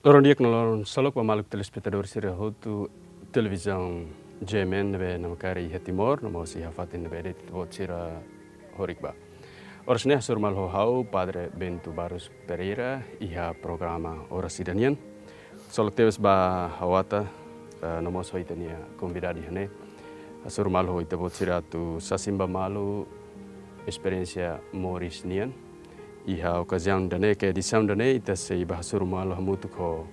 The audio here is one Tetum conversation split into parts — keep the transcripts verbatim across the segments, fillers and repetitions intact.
Loron di'ak no loron ksolok ba maluk telespetadór sira hotu televizaun G M N ne'ebé namkari iha Timor, no mós iha fatin ne'ebé de'it ita-boot sira horik ba. Oras ne'e hasoru malu ho ha'u, Padre Bento Barros Pereira, iha programa Oras Ida Nian. Ksolok tebes ba ha'u ata, eh, no mós ho ita-nia konvidadu iha ne'e. Hasoru malu ho ita-boot sira atu sasin ba malu esperiénsia moris nian. Iha okaziaun ida-ne'e, ka edisaun ida-ne'e, ita sei bá hasoru malu hamutuk ho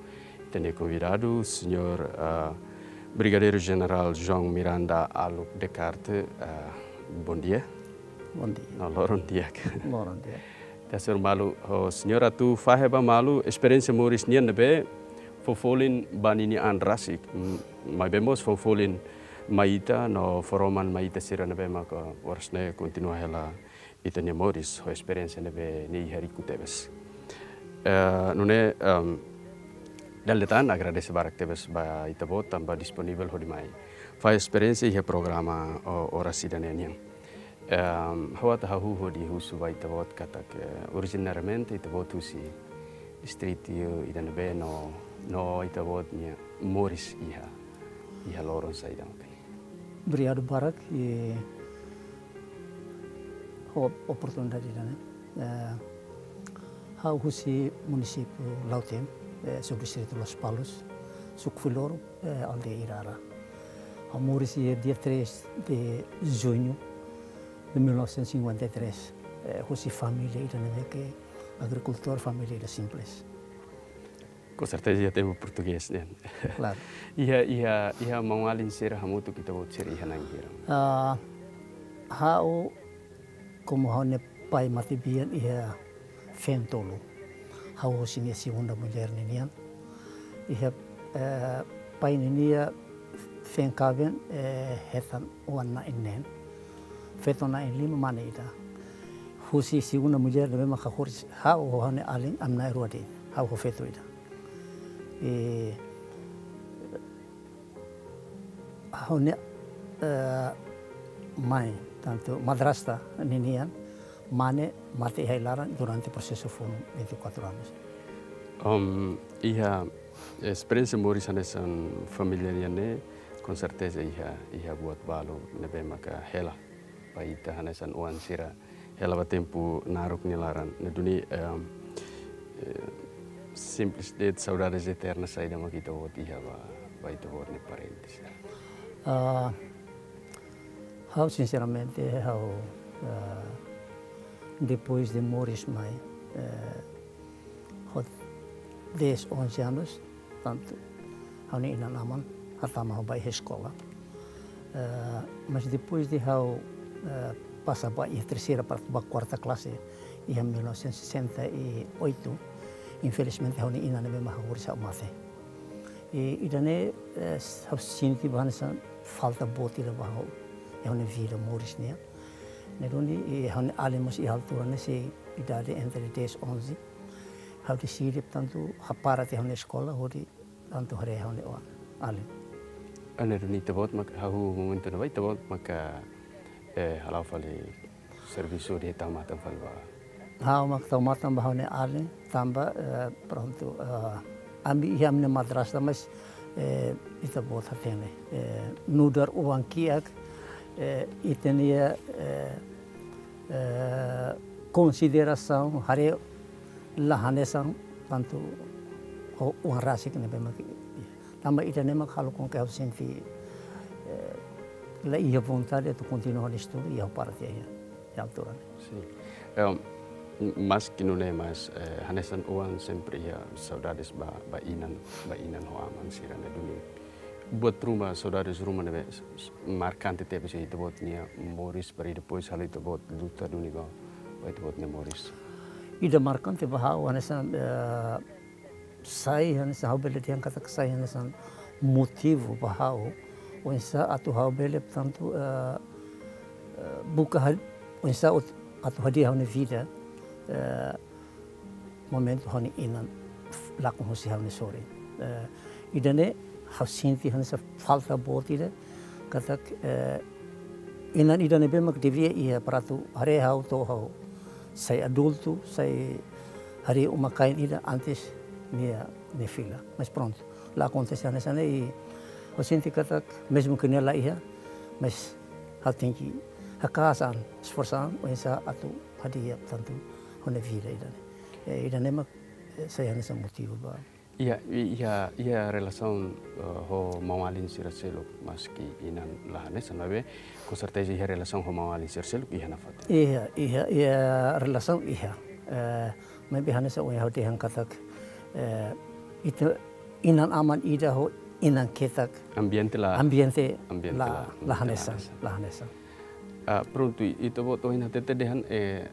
ita-nia konvidadu, Señór, ah, Brigadeiru Jenerál João Miranda Aluk Descartes. Ah, bom dia. Bom dia. No, loron di'ak. Loron di'ak. Ita hasoru malu ho señór atu fahe ba malu esperiénsia moris nian ne'ebé fó folin ba ninia an rasik. Mm, maibé mós fó folin mai ita no fó roman mai ita sira ne'ebé maka oras ne'e kontinua hela ita-nia moris ho esperiénsia ne'ebé nia iha riku tebes. Eh, nune'e, em, dala ida tan agradese barak tebes ba ita-boot tanba disponivel hodi mai fahe esperiénsia iha programa, o, Oras Ida Nian nian. Em, ha'u ata hahú hodi husu ba ita-boot katak, eh, originariamente ita-boot husi distritu ida ne'ebé no, no ita-boot nia moris iha, iha loron saida maka ne'e. Obrigadu barak, eh, ho oportunidade ida-ne'e. Eh, ha'u husi munisípiu Lautém, eh, subdistritu Lospalos, suku Fuiloro, eh, aldeia Irara. Ha'u moris iha dia três de junho de mil novecentos e cinquenta e três, eh, husi família ida ne'ebé ke agrikultór, família ida simples. Com certeza iha tempu portugés, ne'e? Klaru. Iha, iha, iha maun-alin sira hamutuk ita-boot sira iha na'in hira? Ah, ha'u, komu ha'u-nia pai matebian iha feen tolu. Ha'u husi nia segunda mulher ninian. Iha, eh, pai ninia feen kaben, eh, hetan oan na'in neen. Feto na'in lima, mane ida. Husi segunda mulher ne'ebé maka horis ha'u ho ha'u-nia alin, ami na'in-rua de'it. Ha'u ho feto ida. I ha'u-nia, eh, mãe, tantu madrasta ninian, mane mate iha ai-laran durante prosesu funu vinte e quatro anos. Om, iha esperiénsia moris hanesan família nian ne'e, com certeza iha, iha buat balu ne'ebé maka hela ba ita hanesan oan sira hela ba tempu naruk nia laran. Ne'e duni, em, eh, simples de'it saudades eternas saida maka ita-boot iha ba, ba ita-boot nia parentes. Ah, ha'u sinseramente, ha'u, ah, depois de moris mai, eh, ho dez, onze anos, tantu ha'u-nia inan-aman hatama ha'u ba iha eskola. Eh, mas depois de ha'u, eh, pasa ba iha terseira para ba kuarta klase, iha mil novecentos e sessenta e oito, infelizmente ha'u-nia inan ne'ebé mak hahoris ha'u mate. I ida-ne'e, eh, ha'u sente ba hanesan falta boot ida ba ha'u iha ha'u-nia vida moris nian. Ne'e duni, i ha'u-nia alin mós iha altura ne'e sei idade entre dez, onze. Ha'u deside, portantu, ha'u para tiha ha'u-nia eskola, hodi tantu haree ha'u-nia oan, alin. Ne'e duni ita-boot mak, hahú momentu ne'ebá ita-boot maka, eh, hala'o fali servisu hodi tau matan fali ba. Ha'u mak tau matan ba ha'u-nia alin, tanba, eh, prontu, eh, ami iha ami-nia madrasta, mas, eh, ita-boot hatene, eh, nu'udar oan kiak, eh, ita-nia, eh, eh, konsiderasaun haree la hanesan tantu ho oan rasik ne'ebé mak, tanba ida-ne'e mak halo com que ha'u sente, eh, la iha vontade atu kontinua ha'u-nia estudu i ha'u para tiha iha, iha altura ne'e. Sin. Em, maski nune'e mas, eh, hanesan oan sempre iha saudades ba, ba inan, ba inan ho aman sira ne'e duni. Buat ruma, saudades ruma ne'ebé s-, s-, markante tebes iha ita-boot nia moris para depois halo ita-boot luta duni ba, ba ita-boot nia moris. Ida markante ba ha'u hanesan, eh, sai hanesan ha'u bele dehan katak sai hanesan motivu ba ha'u. Oinsá atu ha'u bele, portantu, eh, eh, buka hal-, oinsá ot-, atu hadi'a ha'u-nia vida, eh, momentu ha'u-nia inan lakon husi ha'u-nia sorin. Eh, ida-ne'e ha'u sente hanesan falta boot ida, katak, eh, inan ida ne'ebé mak devia iha para atu haree ha'u to'o ha'u sai adultu, sai harii uma-kain ida antes nia nia fila. Mas prontu, la akontese hanesan ne'e i ha'u sente katak, mezmu ke nia la iha, mas ha'u tenke haka'as an, esforsa an, oinsá atu hadi'a, portantu, ha'u-nia vida ida-ne'e. Eh, ida-ne'e mak, eh, sai hanesan motivu ba. Iha, iha, iha relasaun, eh, ho maun-alin sira seluk, maski inan la hanesan, maibé, com certeza iha relasaun ho maun-alin sira seluk, iha nafatin. Iha, iha, iha relasaun iha. Eh, maibé hanesan ohin ha'u dehan katak, eh, ita inan-aman ida ho inan ketak. Ambiente la, ambiente ambiente la, la, la ambiente la hanesan, hanesan. La hanesan. Ah, prontu, i, ita-boot ohin hatete dehan, eh,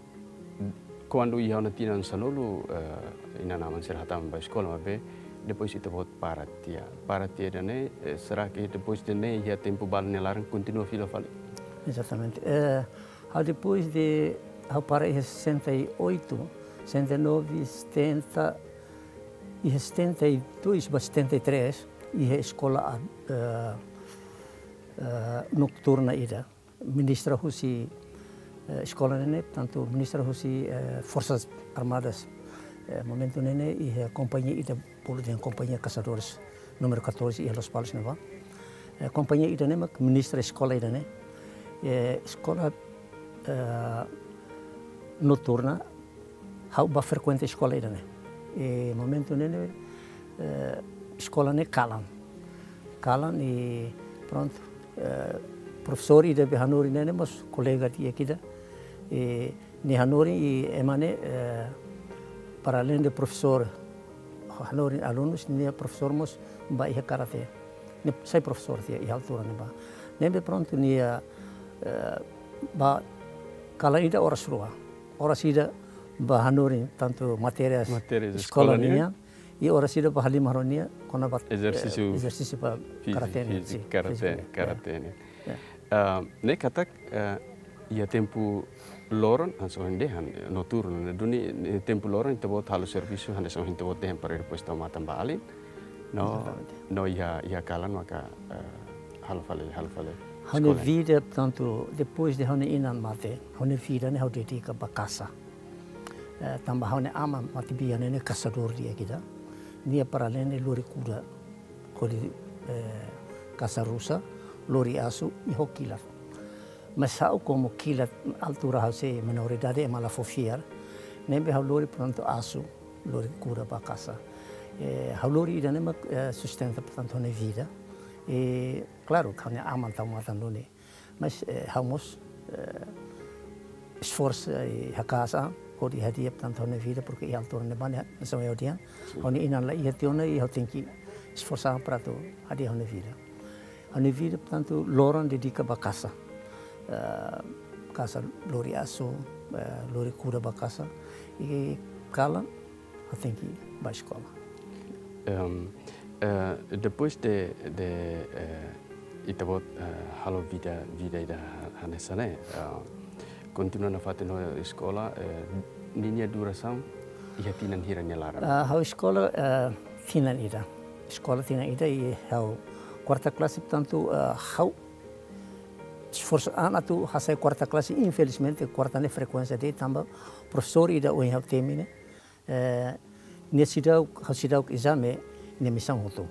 kuandu iha ona tinan sanulu, eh, inan-aman sira hatama ba eskola, maibé depois ita-boot para tiha. Para tiha ida-ne'e, eh, será que depois de ne'e iha tempu balu nia laran kontinua fila fali? Exatamente. Eh, ha'u depois de, ha'u para iha sessenta e oito, sessenta e nove, setenta, iha setenta e dois ba setenta e três, iha eskola, eh, eh, noturna ida. Ministra husi, eh, eskola ne'e, portantu, ministra husi, eh, Forsas Armadas, eh, momentu ne'e, iha kompañia ida bolu dehan kompañia kasadores númeru catorze iha Lospalos ne'ebá. Eh, kompañia ida-ne'e mak ministra eskola ida-ne'e. Eh, eskola, eh, noturna, ha'u bá frekuenta eskola ida-ne'e. I momentu ne'e, eh, eskola ne'e kalan. Kalan i prontu. Eh, profesór ida be hanorin ne'e mós kolega di'ak ida. I nia hanorin i ema ne'e, eh, para além de profesór, hanorin alunus, nia profesór mós bá iha karate. Nia sai profesór tiha iha altura ne'ebá. Ne'ebé prontu nia, eh, bá kalan ida oras rua. Oras ida bá hanorin tantu matérias, matérias eskola eskola nian, nian, i oras ida bá halimar ho nia kona-ba, eh, ezersísiu, ezersísiu ba fíziku, karate nian, fíziku, sin, karate, fíziku, ya, karate nian. Ya. Ah, ne'e katak, eh, iha tempu loron, hanesan ohin dehan, eh, noturnu, ne'e duni, eh, tempu loron, ita-boot halo servisu, hanesan ohin ita-boot dehan para depois tau matan ba alin. No, exatamente, no iha, iha kalan maka, eh, halo fali, halo fali. Ha'u-nia eskola. Vida, portantu, depois de ha'u-nia inan mate, ha'u-nia vida ne'e ha'u dedika ba kasa. Eh, tanba ha'u-nia aman matebian ne'e kasadór di'ak ida. Nia para além de lori kuda, hodi, eh, kasa rusa, lori asu, i ho kilat. Mas ha'u komu kilat altura ha'u sei menoridade, ema la fó fiar. Ne'ebé ha'u lori, portantu, asu, lori kuda ba kasa. Eh, ha'u lori ida-ne'e mak, eh, sustenta, portantu, ha'u-nia vida. I, klaru, ha'u-nia aman tau matan duni. Mas, eh, ha'u mós, eh, esforsa i haka'as an, hodi hadi'a, portantu, ha'u-nia vida, porque iha altura ne'ebá ne'e, hanesan ohin ha'u dehan, sin, ha'u-nia inan la iha tiha ona i ha'u tenke esforsa an para atu hadi'a ha'u-nia vida. Ha'u-nia vida, portantu, loron dedika ba kasa. Eh, kasa lori asu, eh, lori kuda ba kasa. I kalan, ha'u tenke bá eskola. Em, eh, depois de, de, eh, ita-boot, eh, halo vida, vida ida ha-, hanesan ne'e, eh, kontinua nafatin ho eskola, eh, ninia durasaun iha tinan hira nia laran? Ah, ha'u eskola, eh, tinan ida. Eskola tinan ida i ha'u kuarta klase, portantu, eh, ha'u esforsa an atu hasai kuarta klase, infelizmente, kuarta ne'e frekuénsia de'it tanba profesór ida ohin ha'u temi ne'e, eh, nia seidauk, ha'u seidauk ezame, nia misaun hotu.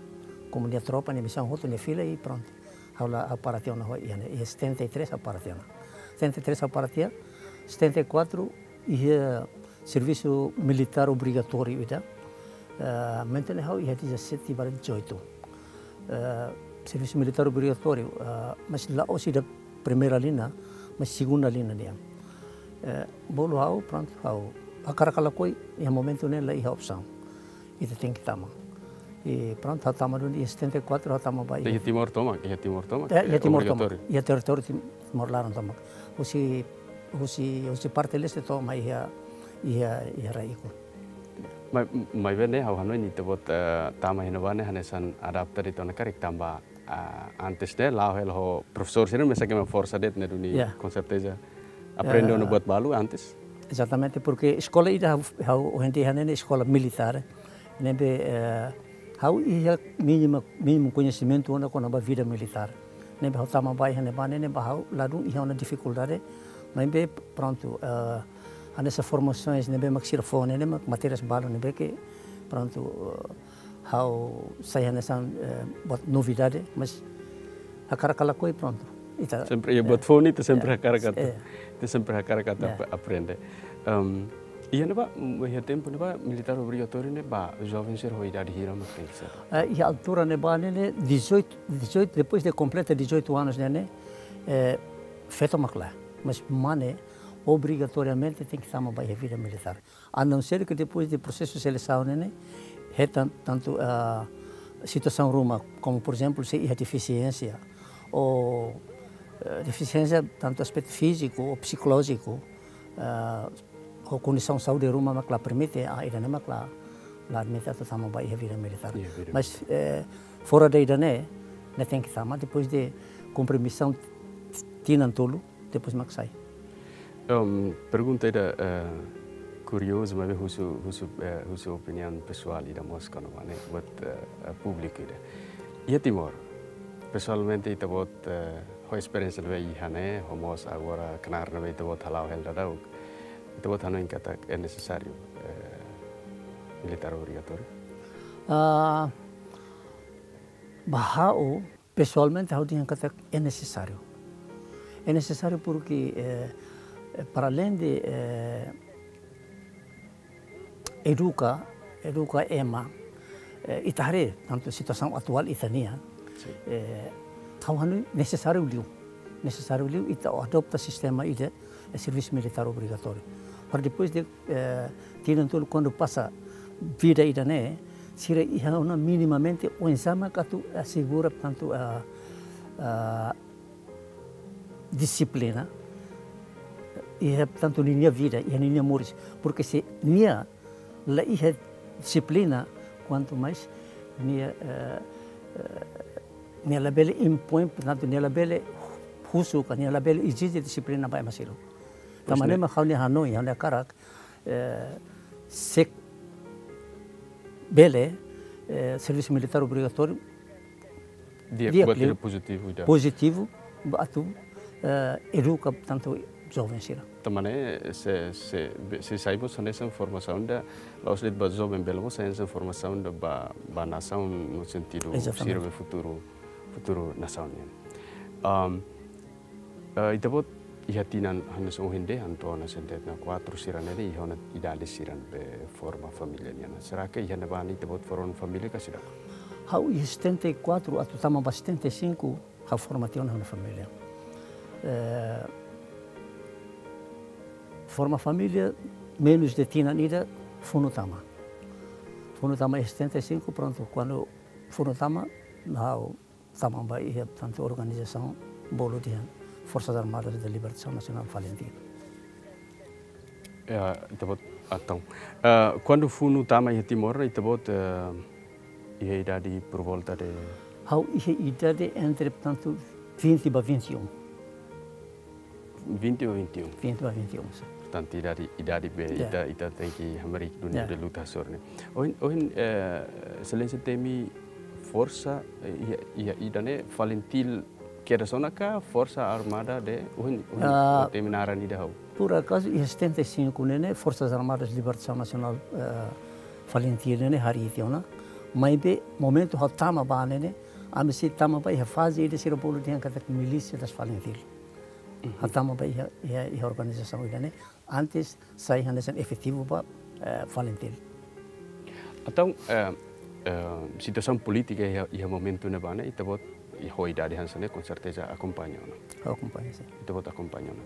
Komu nia tropa, nia misaun hotu, nia fila i prontu. Ha'u la, ha'u para tiha ona ho iha ne'e, iha setenta e três ha'u para tiha ona. Setenta e três ha'u para tiha, setenta e quatro iha servisu militár obrigatóriu ida. Eh, momentu ne'e ha'u iha dezassete barra dezoito. Eh, servisu militár obrigatóriu, eh, mas la'ós ida primeira linha, mas segunda linha nian. Eh, bolu ha'u, prontu, ha'u hakarak ka lakohi, iha momentu ne'e la iha opsaun. Ita tenke tama. I prontu, ha'u tama duni, iha setenta e quatro ha'u tama ba iha. Iha Timor tomak, iha Timor tomak, eh, iha eh, Timor tomak, obrigatóriu. Iha territóriu Tim-, Timor laran tomak. Husi, husi, husi parte leste to'o mai iha, iha, iha rai ikus. Mai, maibé ne'e ha'u hanoin ita-boot, eh, tama iha ne'ebá ne'e hanesan adapta de'it ona karik tanba, ah, antes ne'e la'o hela ho profesór sira mesak ema forsa de'it ne'e duni, ya, com certeza aprende, ya, ona buat balu antes. Exatamente, porque eskola ida ha'u, ha'u ohin dehan ne'e eskola militár. Ne'ebé, eh, ha'u iha mínimu, mínimu koñesimentu ona kona-ba vida militár. Ne'ebé ha'u tama ba iha ne'ebá ne'e, ne'ebá ha'u ladún iha ona difikuldade. Maibé prontu, eh, hanesan formasoens ne'ebé mak sira fó ne'e, ne'e mak matérias balu ne'ebé ke prontu, eh, Ha'u sai hanesan, eh, buat novidade, mas hakarak ka lakohi, prontu. Ita, Sempre iha eh, buat foun, ita sempre eh, hakarak atu, eh, ita sempre hakarak atu Ya. ap-, aprende. Em, iha ne'ebá, mm, iha tempu ne'ebá, militár obrigatóriu ne'e ba joven sira ho idade hira mak tenke ser? Eh, iha altura ne'ebá ne'e, dezoito, dezoito, depois de kompleta dezoito anos ne'e, eh, feto mak lae. Mas mane obrigatoriamente tenke tama ba iha vida militár. A não ser que depois de prosesu selesaun ne'e, hetan tantu, ah, situasaun ruma, como por exemplo, se iha defisiénsia, ou, eh, defisiénsia tantu aspetu fíziku ou psikolójiku, ah, ou kondisaun saúde ruma mak la permite, ah, ida-ne'e mak la, la admite atu tama ba iha vida militár. Iha vida Mas, eh, fora de ida-ne'e, ne'e tenke tama depois de kumpre misaun tinan tolu, depois mak sai. Em, pergunta ida, eh, kuriozu, maibé husu, husu, eh, husu opiniaun pesoál ida mós kona-ba ne'e, buat, eh, eh, públiku ida. Iha Timor, pesoalmente ita-boot, eh, ho esperiénsia ne'ebé iha ne'e, ho mós agora knaar ne'ebé ita-boot hala'o hela daudaun. Ita-boot hanoin katak é nesesáriu, eh, militár obrigatóriu? Ah, ba ha'u, pesoalmente, ha'u dehan katak é nesesáriu. É nesesáriu porque, eh, eh, para além de, eh, eduka, eduka ema, eh, ita haree tantu situasaun atuál ita-nian, Sin. eh, ha'u hanoin nesesáriu liu. Nesesáriu liu ita adota sistema ida, eh, servisu militár obrigatóriu. Para depois de, eh, tinan tolu, kuandu pasa vida ida-ne'e, sira iha ona minimamente oinsá mak atu asegura tantu, ah, ah, dixiplina, iha tantu ninia vida, iha ninia moris. Porque se nia la iha dixiplina, kuantu mais nia, eh, eh, nia labele impoin, portantu, nia labele husu ka, nia labele ezije dixiplina ba ema seluk. Pois, tanba ne'e, ne'e mak ha'u-nia hanoin, ha'u-nia hakarak, eh, se bele, eh, servisu militár obrigatóriu, Di'ak, di'ak buat liu, ida pozitivu ida. Pozitivu, ba atu, eh, eduka tantu joven sira. Tanba ne'e, se, se, be-, se sai mós hanesan formasaun ida, la'ós de'it ba joven, bele mós sai hanesan formasaun ida ba, ba nasaun no sentidu Exatamente. sira-nia futuru, futuru nasaun nian. Am, eh, ita-boot iha tinan hanesan ohin dehan to'o ona setenta e quatro sira ne'e iha ona idade sira ne'ebé forma família nian. Será que iha ne'ebá ne'e ita-boot forma família ka seidauk? Ha'u iha setenta e quatro atu tama ba setenta e cinco, ha'u forma tiha ona ha'u-nia família. Eh, forma família, menus de tinan ida, funu tama. Funu tama iha setenta e cinco, prontu, kuandu funu tama, ha'u tama ba iha tantu organizasaun bolu dehan Forças Armadas de Libertação Nacional, FALINTIL. Ya, ita-boot, entaun, eh, kuandu funu tama iha Timor, ita-boot, eh, iha idade por volta de? Ha'u iha idade entre, portantu, vinte ba vinte e um. Vinte ba vinte e um. Vinte ba vinte e um, sin. Portantu, idade, idade be, Ya. ita, ita tenke hamriik duni Ya. de luta sor ne'e. Ohin, ohin, eh, Exelénsia temi forsa, eh, iha, iha ida-ne'e FALINTIL kedas ona ka Forsa Armada de, ohin, ohin, Ah, temi naran ida ha'u? Por acaso, iha setenta e cinco ne'e, ne'e, Forças Armadas de Libertação Nacional, eh, FALINTIL ne'e, ne'e, harii tiha ona. Maibé, momentu ha'u tama ba ne'e, ne'e, ami sei tama ba iha faze ida sira bolu dehan katak milísia das FALINTIL. Mhm. Ha'u tama ba iha, iha, iha organizasaun ida-ne'e, antes sai hanesan efetivu ba, eh, FALINTIL. Entaun, eh, eh, situasaun polítika iha, iha momentu ne'ebá ne'e, ita-boot iha idade hanesan ne'e, com certeza akompaña ona. Akompaña, sin. Ita-boot akompaña ona.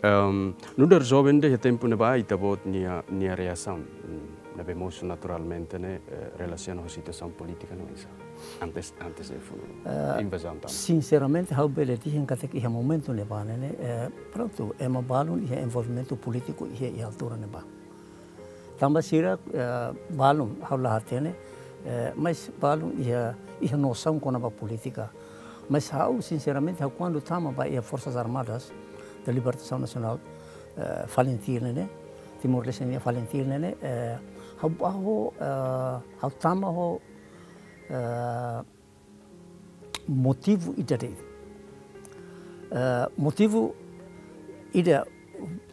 Em, nu'udar joven iha tempu ne'ebá, ita-boot nia, nia reasaun, mm, ne'ebé mosu naturalmente ne'e, eh, relasiona ho situasaun polítika ne'e oinsá? Antes, antes de funu, eh, invazaun tama. Sinceramente, ha'u bele dehan katak iha momentu ne'ebá ne'e, ne'e, eh, prontu, ema balun iha envolvimentu polítiku iha, iha altura ne'ebá. Tanba sira, eh, balun, ha'u la hatene, eh, mas balun iha, iha nosaun kona-ba polítika. Mas ha'u, sinceramente, ha'u kuandu tama ba iha Forças Armadas de Libertação Nacional, eh, FALINTIL ne'e, ne'e, Timor-Leste nia FALINTIL ne'e, ne'e, eh, ha'u ba ho, eh, ha'u tama ho, eh, motivu ida de'it. Eh, motivu ida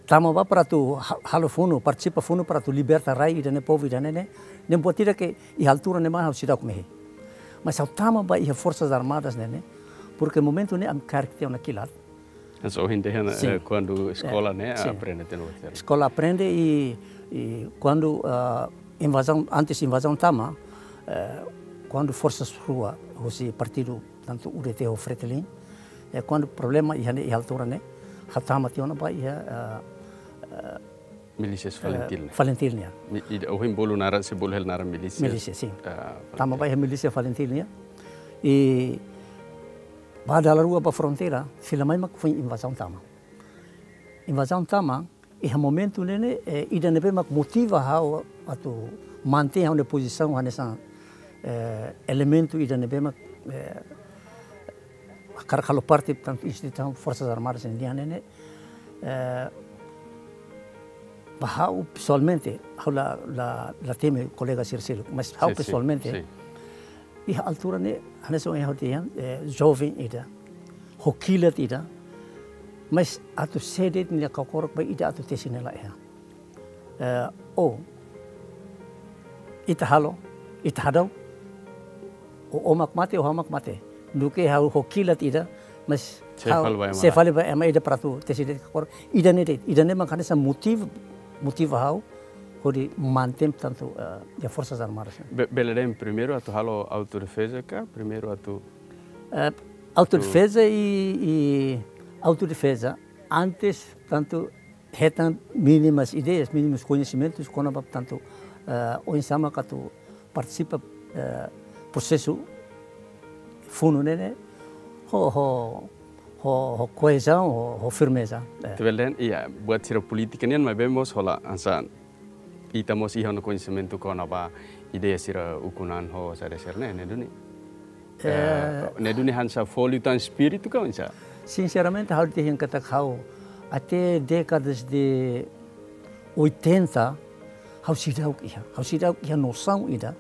Tama ba para atu ha-, halo funu, partisipa funu para atu liberta rai ida-ne'e, povu ida-ne'e ne'e. Ne'e buat ida ke iha altura ne'ebá ha'u seidauk mehi. Mas ha'u tama ba iha Forsas Armadas ne'e ne'e, porque momentu ne'e ami kaer tiha ona kilat. Hanesan ohin dehan, Sin. eh, kuandu eskola ne'e, Sin. aprende tiha ona. Eskola aprende i, i kuandu, ah, invazaun, antes invazaun tama, eh, kuandu forsas rua husi partidu, tantu U D T ho Fretilin, eh, kuandu problema iha ne'e, iha altura ne'e, ha'u tama tiha ona ba iha, eh, eh, Milísias eh, Falintil ne'e. Falintil nian. Mi-, ida, ohin bolu naran, se bolu hela naran milísias. Milísia, sin. Ah, Tama Falintil. Ba iha milísia Falintil nian. I ba dala rua ba fronteira, fila mai mak foin invazaun tama. Invazaun tama, iha momentu ne'e ne'e, eh, ida ne'ebé mak motiva ha'u atu mantein ha'u-nia pozisaun hanesan, eh, elementu ida ne'ebé mak, eh, hakarak halo parte, portantu, instituisaun Forsas Armadas nian ne'e ne'e, eh, ba ha'u pesoalmente, ha'u la, la, la temi kolega sira seluk, mas ha'u Sin, sin, pesoalmente, sin. iha altura ne'e, hanesan ohin ha'u dehan, eh, joven ida, ho kilat ida, mas atu sé de'it nia kakorok ba ida atu tesi ne'e la iha. Eh, o, ita halo, ita hadau, o, o mak mate, o ha'u mak mate. Duké ha'u ho kilat ida, mas Sé ha'u fali ba ema sé la. fali ba ema ida para atu tesi de'it kakorok. Ida-ne'e de'it, ida-ne'e mak hanesan motiv-, motiva ha'u, hodi mantein, portantu, eh, iha Forsas Armadas. Be-, bele dehan primeiru atu halo autodefeza ka, primeiru atu Eh, autodefeza i, i autodefeza antes, portantu, hetan mínimas ideias, mínimus koñesimentus, kona-ba, portantu, eh, oinsá mak atu partisipa, eh, prosesu funu ne'e ne'e, ho, ho, ho, ho koezaun, ho, ho firmeza, eh. Ita bele dehan, iha, buat sira polítika nian, maibé mós hola hanesan ita mós iha ona koñesimentu kona-ba ideia sira ukun-an ho saida sira ne'e, ne'e duni. Eh, Eh, ne'e duni hanesan fó liután espíritu ka oinsá? Sinceramente, ha'u dehan katak ha'u, até décadas de oitenta, ha'u seidauk iha, ha'u seidauk iha nosaun ida.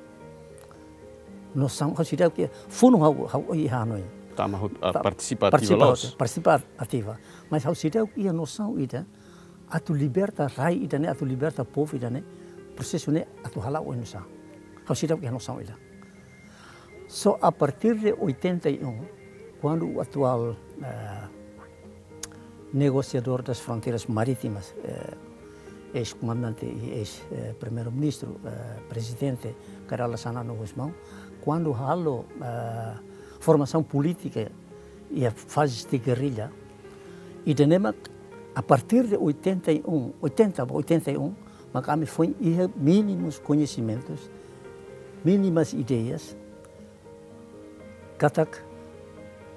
Nosaun, ha'u seidauk iha, funu ha'u, ha'u iha hanoin. Tama hut-, ah, Pa-, partisipa ativa partisipa loos. hut-, partisipa ativa. Mas ha'u seidauk iha nosaun ida, atu liberta rai ida-ne'e, atu liberta povu ida-ne'e, prosesu ne'e atu hala'o oinsá. Ha'u seidauk iha nosaun ida. Só a partir de oitenta e um, kuandu o atuál, eh, negosiadór das fronteiras marítimas, eh, eis-komandante i eis, eh, primeiru-ministru, eh, prezidente Kay Rala Xanana Gusmão, kuandu halo, eh, formasaun polítika iha faze de gerrilla, ida-ne'e mak a partir de oitenta e um, oitenta ba oitenta e um, mak ami foin iha mínimus koñesimentus, mínimas ideias, katak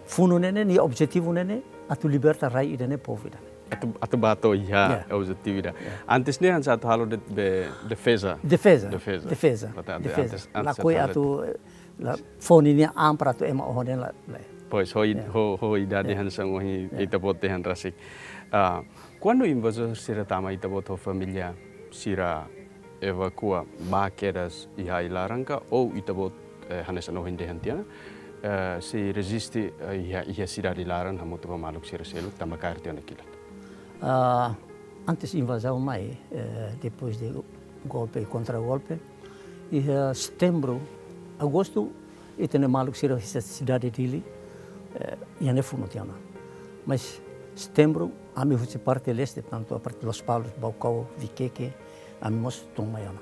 funu ne'e ne'e, nia objetivu ne'e ne'e, atu liberta rai ida-ne'e, povu ida-ne'e. Atu, atu bá to'o iha Ya. objetivu ida. Ya. Antes ne'e hanesan atu halo de, de, defeza. Defeza. Defeza. Defeza. Portantu, Defeza. antes, antes Lakohi atu halo atu, eh, la fó ninia an para atu ema oho de'it la, la. Pois, ho i-, Ya. ho, ho idade Ya. hanesan ohin Ya. ita-boot dehan rasik. Ah, kuandu invazór sira tama, ita-boot ho família sira evakua bá kedas iha ai-laran ka, ou ita-boot, eh, hanesan ohin dehan tiha ona, eh, sei reziste, eh, iha, iha sidade laran hamutuk ho maluk sira seluk tanba kaer tiha ona kilat? Ah, antes invazaun mai, eh, depois de golpe e kontra-golpe, iha setembru, agostu, ita-nia maluk sira husi sidade Dili, eh, iha ne'e funu tiha ona. Mas setembru, ami husi parte leste, portantu, a parte Lospalos, Baucau, Viqueque, ami mós tun mai ona.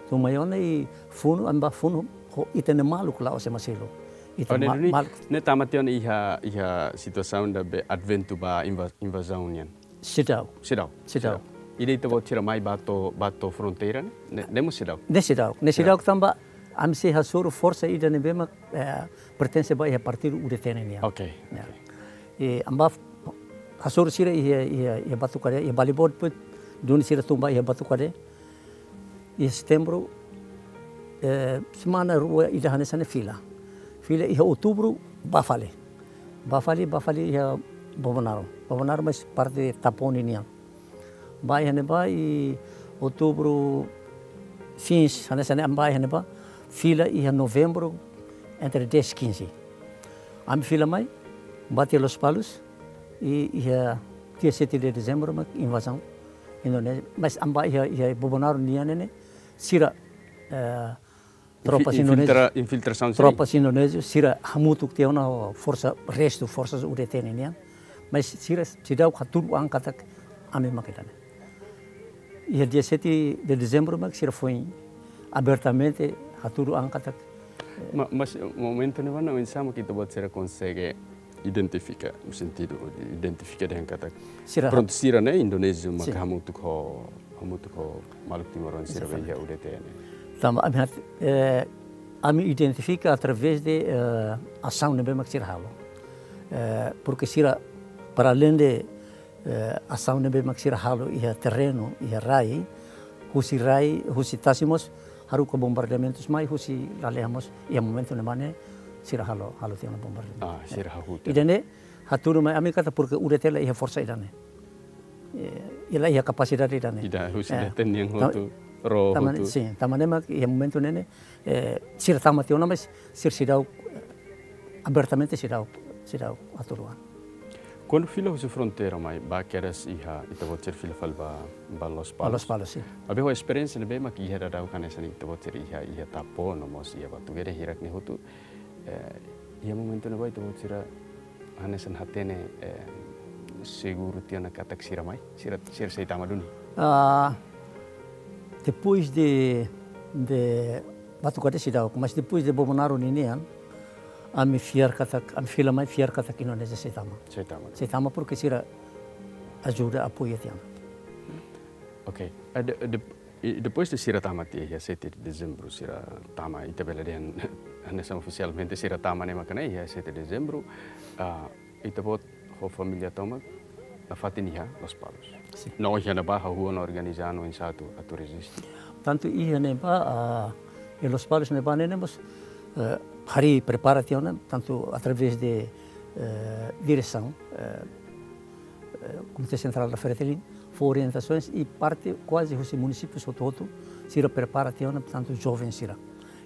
Tun mai ona i funu, ami bá funu, ho ita-nia maluk la'ós ema seluk. Ita Oh, ne'e ma-, duni, maluk ne'e tama tiha ona iha, iha situasaun ida be adventu ba inva-, invazaun nian. Seidauk. Seidauk. Seidauk. Seidauk. Ida ita-boot sira mai bá to'o, bá to'o fronteira ne'e? Ne'e, ne'e mós seidauk? Ne'e seidauk. Ne'e Seidauk. seidauk tanba ami sei hasoru forsa ida ne'ebé mak, eh, pertense ba iha partidu U D T nian. Ok, Ya. ok. I ami bá f-, hasoru sira iha, iha, iha Batucadé, iha Balibot, depois duni sira tun ba iha Batucadé. Iha setembru, eh, semana rua ida hanesan ne'e fila. Fila iha outubru, bá fali. Bá fali, bá fali iha Bobonaro. Bobonaro mais parte Taponi nian. Bá iha ne'ebá i outubru, fins, hanesan ne'e ami bá iha ne'ebá. Fila iha novembru, entre dez, quinze. Ami fila mai, bá to'o Lospalos, i iha dia sete de dezembru mak invazaun Indonézia. Mas ami bá iha, iha Bobonaro nian ne'e, sira, eh, tropas indonézias, infiltra-, infiltrasaun sira. Tropas indonézias, sira hamutuk tiha ona ho forsa, restu forsas U D T nian. Mas sira seidauk hatudu an katak ami mak ida-ne'e. Iha dia sete de dezembru mak sira foin abertamente hatudu an katak. Ma-, mas momentu ne'ebá oinsá mak ita-boot sira konsege identifika, no sentidu de identifika dehan katak, sira, prontu, sira ne'e indonéziu mak, sin, hamutuk ho, hamutuk ho maluk timoroan sira, exatamente, iha U D T ne'e. Tanba ami hat-, eh, ami identifika através de, eh, asaun ne'ebé mak sira halo. Eh, porque sira, para além de, eh, asaun ne'ebé mak sira halo iha terrenu, iha rai, husi rai, husi tasi mós haruka bombardeamentus mai, husi lalehan mós, iha momentu ne'ebá ne'e sira halo, halo tiha ona bombardeamentu. Ah, sira hahú tiha. Ida-ne'e hatudu mai ami katak porque U D T la iha forsa ida-ne'e. Eh, la iha kapasidade ida-ne'e. Ida husi, eh, D T nian ta-, hotu, ró tanba ne'e, hotu. Sin, tanba ne'e mak iha momentu ne'e ne'e, eh, sira tama tiha ona, mas sira seidauk, eh, abertamente seidauk, seidauk hatudu an. Kuandu fila husi fronteira mai, bá kedas iha, ita-boot sira fila fali bá, bá Lospalos. Bá Lospalos, sin. Maibé ho esperiénsia ne'ebé mak iha daudaun hanesan ita-boot sira iha, iha Tapo, no mós iha Batugere, hirak ne'e hotu. Eh, iha momentu ne'ebá ita-boot sira hanesan hatene, eh, seguru tiha ona katak sira mai, sira, sira sei tama duni. Ah, depois de, de Batugere seidauk, mas depois de Bobonaro ninian, ami fiar katak, ami fila mai fiar katak Indonézia sei tama. Sei tama. Sei tama porque sira ajuda, apoia tiha ona. Ok. Eh, de, de, I depois de sira tama tiha iha sete de dezembru, sira tama, ita bele dehan, hanesan ofisialmente sira tama ne'e maka ne'e iha sete de dezembru, ah, ita-boot ho família tomak nafatin iha Lospalos. Sin. No iha ne'ebá hahú ona organiza no oinsá atu, atu reziste. Tantu iha ne'ebá, ah, iha Lospalos ne'ebá ne'e, ne'e mós, eh, harii prepara tiha ona, tantu através de, eh, diresaun, eh, eh, Komité Sentrál da Fretilin, fó orientasoens i parte kuaze husi munisípiu hotu-hotu, sira prepara tiha ona, portantu, joven sira.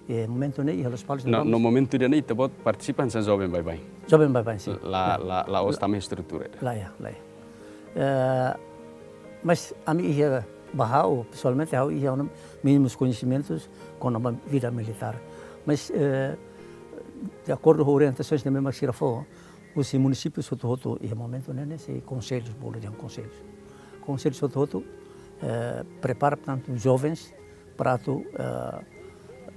I momentu ne'e, iha Lospalos. No, ne'e no momentu ida-ne'e, ita-boot partisipa hanesan joven baibain. Joven baibain, sin. La, ya, la, la'ós tama estrutura. Laiha, laiha. Eh, mas ami iha, ba ha'u, pesoalmente, ha'u iha ona mínimos koñesimentus kona-ba vida militár. Mas, eh, de akordu ho orientasoens ne'ebé mak sira fó, husi munisípiu hotu-hotu, iha momentu ne'e ne'e sei konsellu, bolu dehan konsellu. Konsellu hotu-hotu, eh, prepara, portantu, jovens para atu, eh,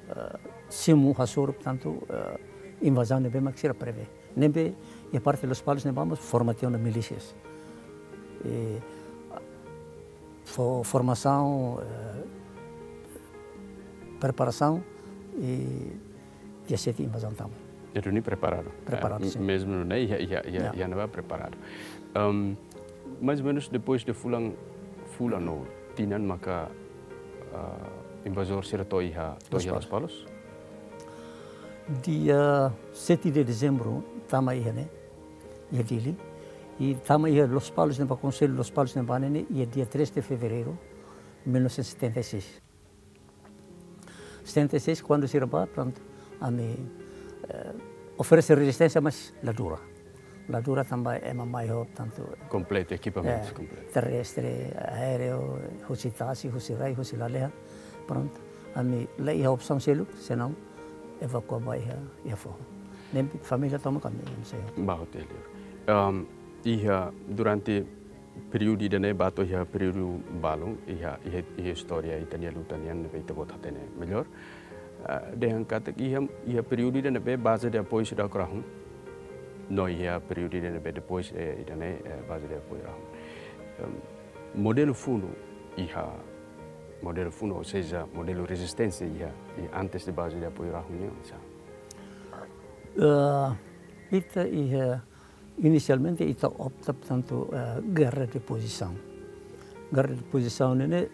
eh, simu hasoru, portantu, eh, invazaun ne'ebé mak sira prevee. Ne'ebé, iha parte Lospalos ne'ebá mós forma tiha ona milísias. I fó formasaun, eh, preparasaun i dia sete invazaun tama. Ita duni preparadu. Preparadu, eh, sin. Mezmu ne'e iha, iha, iha, ya, iha ne'ebá preparadu. Ehm, mais ou menos depois de fulan, fulan no tinan maka, ah, invazór sira to'o iha, to'o iha Lospalos. Lospalos? Dia sete de dezembru tama iha ne'e, iha Dili. I tama iha Lospalos ne'ebá, konsellu Lospalos ne'ebá ne'e, iha dia três de fevereiro mil novecentos e setenta e seis. Setenta e seis, kuandu sira bá, prontu, ami, eh, oferese rezisténsia, mas la dura. La dura tanba ema mai ho, portantu, kompletu, ekipamentu, eh, kompletu. Terrestre, aéreu, husi tasi, husi rai, husi lalehan. Prontu, ami la iha opsaun seluk, senaun evakua ba iha, iha foho. Ne'e família tomak ami, ami sei. Bá hotu iha liur. Ehm, iha durante períodu ida-ne'e bá to'o iha períodu balun, iha, iha, iha istória ita-nia luta nian ne'ebé ita-boot hatene melhor. Ah, dehan katak iha, iha períodu ida ne'ebé baze de apoiu seidauk rahun. No iha períodu ida ne'ebé depois, eh, ida-ne'e, eh, baze de apoiu rahun. Em, modelu funu iha, modelu funu, ou seja, modelu rezisténsia iha, iha antes de baze de apoiu rahun nian, sa? Eh, ita iha Inisialmente, ita opta, portantu, eh, gerra de pozisaun. Gerra de pozisaun ne'e,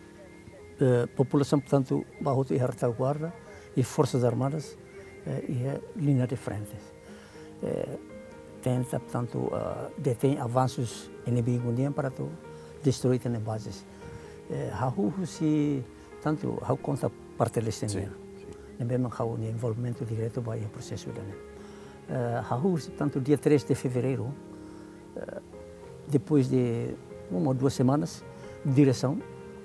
eh, populasaun, portantu, bá hotu iha retaguarda i Forsas Armadas, eh, iha liña de frente. Eh, tenta, portantu, eh, detein avansus inimigu nian para atu destrui tiha ona bazes. Eh, hahú husi, portantu, ha'u konta parte leste nian. Sin, sin. Ne'ebé mak ha'u-nia envolvimentu diretu ba iha prosesu ida-ne'e. Eh, hahú husi, portantu, dia três de fevereiro, eh, depois de uma ou duas semanas, diresaun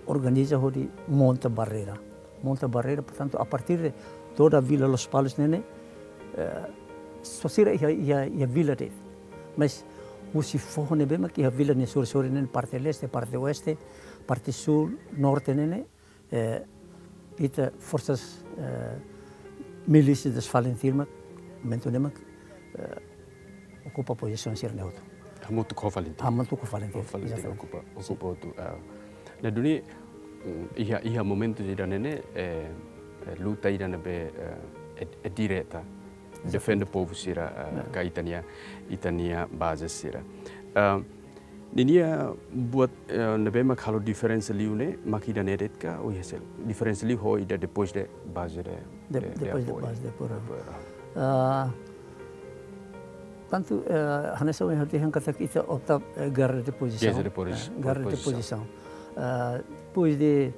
organiza hodi monta barreira. Monta barreira, portantu, a partir de toda a Vila Lospalos ne'e ne'e, eh, só sira iha, iha, iha vila de'it. Mas husi foho ne'ebé mak iha vila nia sorin-sorin ne'e ne'e, parte leste, parte oeste, parte súl, norte ne'e ne'e, eh, ita forsas, eh, milísia das FALINTIL mak, momentu ne'e mak, eh, okupa pozisaun sira-ne'e hotu. Hamutuk ho FALINTIL. Hamutuk ho FALINTIL, ho FALINTIL, exatamente. Okupa, sin, okupa hotu, eh. Ne'e duni, mm, iha, iha momentu ida-ne'e ne'e, eh, eh, luta ida ne'ebé, eh, é, é direta. Exatamente. Defende povu sira, eh, ne'e, ka ita-nia, ita-nia baze sira. Eh, ninia buat, eh, ne'ebé mak halo diferensa liu ne'e, mak ida-ne'e de'it ka, ou iha seluk? Diferensa liu ho ida depois de baze de, de, de apoiu. De, depois de baze de apoiu. De apoiu, ah. Ah, tantu, eh, hanesan ohin ha'u dehan katak ita opta, eh, guerra de pozisaun. Guerra de posi-, eh, guerra de pozisaun. Pozisaun. Ah, depois de,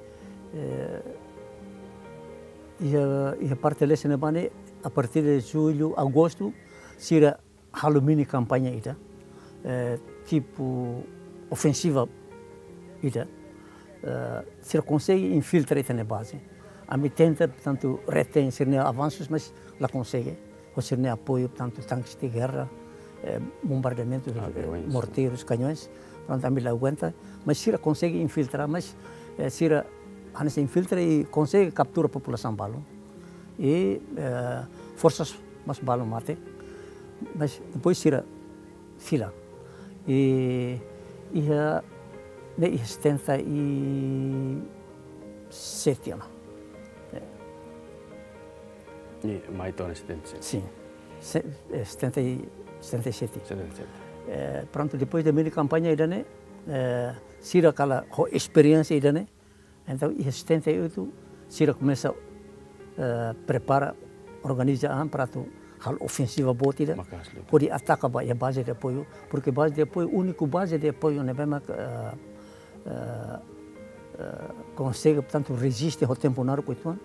eh, iha, iha parte leste ne'ebá ne'e, a partir de jullu, agostu, sira halo mini kampaña ida, eh, tipu ofensiva ida, eh, sira konsege infiltra ita-nia baze. Ami tenta, portantu, retein sira-nia avansus, mas la konsege. Ho sira-nia apoiu, portantu, tanques de guerra, eh, bombardeamentu, eh, aviões, morteirus, kañões. Portantu, ami la aguenta, mas sira konsege infiltra, mas, eh, sira hanesan infiltra i konsege kaptura populasaun balun. I, eh, forsas mós balun mate, mas depois sira fila. I iha, ne'e iha setenta e sete ona. Eh. Iha mai to'o setenta e sete. Sin. Se-, eh, setenta e, setenta e sete. Setenta e sete. Eh, prontu, depois de mini kampaña ida-ne'e, eh, sira kala ho esperiénsia ida-ne'e, entaun, iha setenta e oito, sira komesa, eh, prepara, organiza an para atu halo ofensiva boot ida, maka'as liu, hodi ataka ba iha baze de apoiu, porque baze de apoiu, úniku baze de apoiu ne'ebé mak, eh, eh, eh, konsege, portantu, reziste ho tempu naruk uitoan,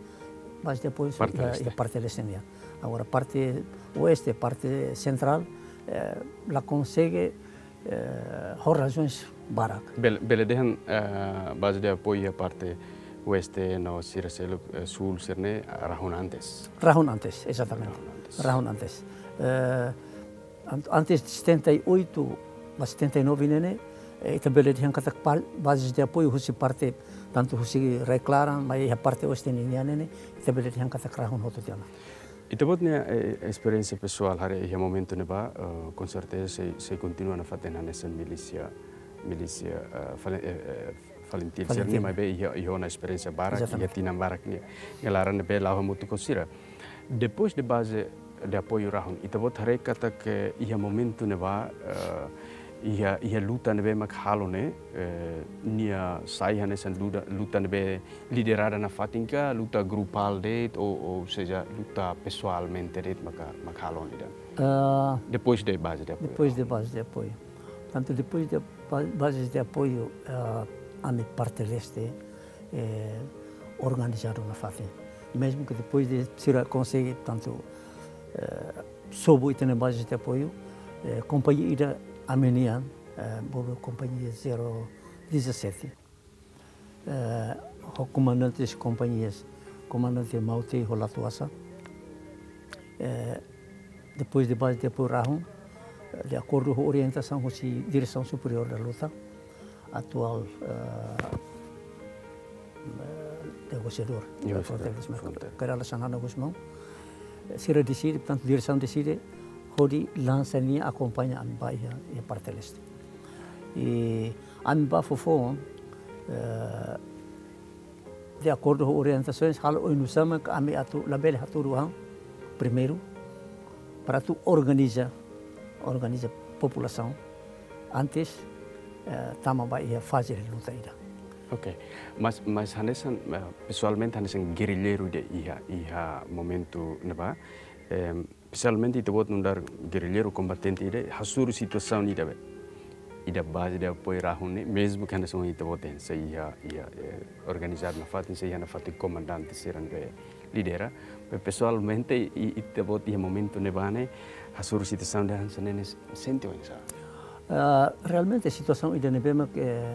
baze de apoiu, parte, eh, leste, iha parte leste nian. Agora, parte oeste, parte sentrál, eh, la konsege, eh, ho razoens barak. Bele, bele dehan, eh, baze de apoiu iha parte oeste no sira seluk, eh, súl sira-ne'e, eh, rahun antes. Rahun antes, exatamente. Rahun antes. Rahun antes. Eh, an-, antes de setenta e oito ba setenta e nove ne'e ne'e, eh, ita bele dehan katak pa-, bazes de apoiu husi parte, tantu husi rai-klaran, mai iha parte oeste ninian ne'e ne'e, ita bele dehan katak rahun hotu tiha ona. Ita-boot nia, eh, esperiénsia pesoál haree iha momentu ne'ebá, eh, konserteza sei, sei kontinua nafatin hanesan milísia, milísia, eh, FALI-, eh, eh, FALINTIL sira-ne'e, FALINTIL, maibé iha, iha ona esperiénsia barak, exatamente, iha tinan barak nia, nia laran ne'ebé la'o hamutuk ho sira. Depois de baze de apoiu rahun, ita-boot haree katak iha momentu ne'ebá, eh, iha, iha luta ne'ebé mak halo ne'e, eh, nia sai hanesan luta, luta ne'ebé liderada nafatin ka, luta grupál de'it, ou, ou seja, luta pesoalmente de'it maka, mak halo ne'e ida? Ah, depois de baze de apoiu. Depois de baze de apoiu. Portantu, depois de ba-, bazes de apoiu, ah, ami parte leste, eh, organizadu nafatin. Mezmu ke depois de sira konsege, portantu, eh, sobu ita-nia bazes de apoiu, eh, kompañia ida ami-nian, eh, bolu kompañia zero dezassete. Eh, ho komandantes kompañias, komandante Mautei ho Latuasa. Eh, depois de baze de apoiu rahun, eh, de akordu ho orientasaun husi Diresaun Superiór da Luta, atuál, eh, eh, negosiadór, negosiadór, fronteira, fronteira, Kay Rala Xanana Gusmão. Eh, sira deside, portantu, diresaun deside hodi lansa nia akompaña ami ba iha, iha parte leste. I ami ba foufoun, eh, de akordu ho orientasoens, halo oinsá mak ami atu labele hatudu an primeiru, para atu organiza, organiza populasaun antes, eh, tama ba iha faze de luta ida. Ok. Mas, mas hanesan, eh, pesoalmente hanesan gerrilleiru ida iha, iha momentu ne'ebá, em, pesoalmente ita-boot nu'udar gerrilleiru kombatente ida, hasoru situasaun ida be, ida baze de apoiu rahun ne'e, mezmu ke hanesan ita-boot dehan sei iha, iha, eh, organizadu nafatin, sei iha nafatin komandante sira ne'ebé lidera. Be pesoalmente, i, ita-boot iha momentu ne'ebá ne'e, hasoru situasaun ida hanesan ne'e ne'e sente oinsá? Ah, realmente situasaun ida ne'ebé mak, eh,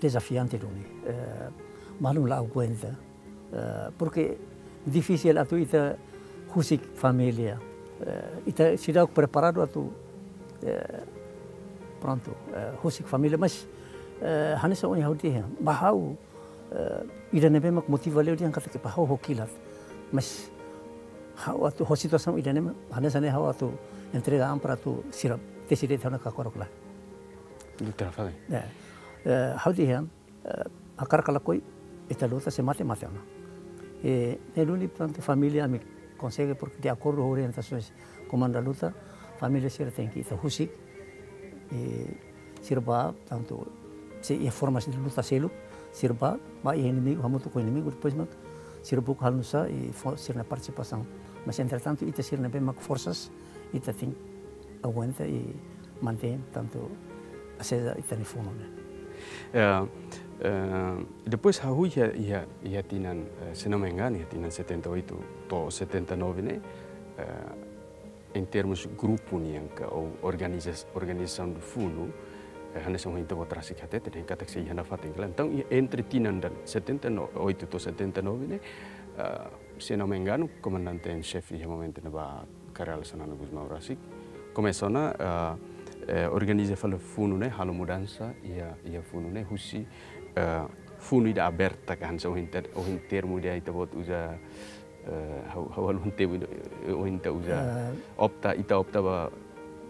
dezafiante duni. Eh, maluk la aguenta. Eh, porke difisil atu ita husik família. Eh, ita seidauk preparadu atu, eh, prontu, eh, husik família, mas, eh, hanesan ohin ha'u dehan, ba ha'u, eh, ida ne'ebé mak motiva liu dehan katak ba ha'u ho kilat. Mas ha'u atu ho situasaun ida ne'e, hanesan ne'e ha'u atu entrega an para atu sira tesi de'it ha'u-nia kakorok lae. Doutora, fala. Eh, eh, ha'u dehan, eh, hakarak ka lakohi, ita luta, se mate, mate ona. Eh, ne'e duni, portantu, família ami konsege, porke de akordu ho orientasoens Komandu da Luta, família sira tenke ita husik, eh, sira bá, portantu, sei iha formas de luta seluk, sira bá, bá iha inimigu, hamutuk ho inimigu, depois mak sira buka halo nusá, i fó sira-nia partisipasaun. Mas, entretantu, ita sira ne'ebé mak forsas, ita tenke aguenta i mantein, portantu, aseza ita-nia funu ne'e. Eh, eh, depois hahú iha, iha, iha tinan, eh, se não me engano, iha tinan setenta e oito to'o setenta e nove ne'e, eh, em termos grupu nian ka ou organiza-, organizasaun do funu, eh, hanesan ohin ita-boot rasik hatete, dehan katak sei iha nafatin, klaru. Entaun, i entre tinan ida setenta e oito to'o setenta e nove ne'e, eh, se não me engano, komandante em xefe iha momentu ne'ebá Kay Rala Xanana Gusmão rasik komesa ona, eh, eh, organiza fali funu ne'e, halo mudansa iha, iha funu ne'e, husi, eh, funu ida aberta ka hanesan ohin ter-, ohin termu ida ita-boot uza, eh, ha'u, ha'u haluha termu ida, eh, ohin ita uza. Eh. Opta, ita opta ba,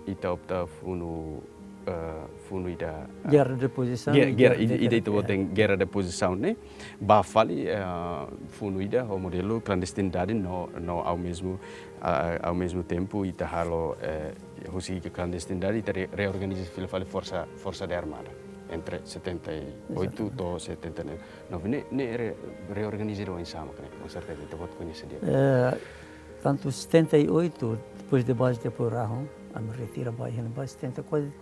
ita opta funu, eh, funu ida, eh, guerra de pozisaun, ge-, guerra, guerra de ida, ida guerra, ita-boot, eh, dehan guerra de pozisaun ne'e. Bá fali, eh, funu ida ho modelu klandestinidade no, no ao mesmo, ah, ao mesmo tempo ita halo, eh, husi klandestinidade ita re-, reorganiza fila fali forsa, forsa de armada entre setenta e oito, exatamente, to'o setenta e nove ne'e, ne'e re-, reorganiza oinsá mak ne'e, com certeza ita-boot koñese di'ak. Eh, tantu setenta e oito, depois de baze de apoiu rahun, ami retira ba iha ne'ebá setenta, kuaze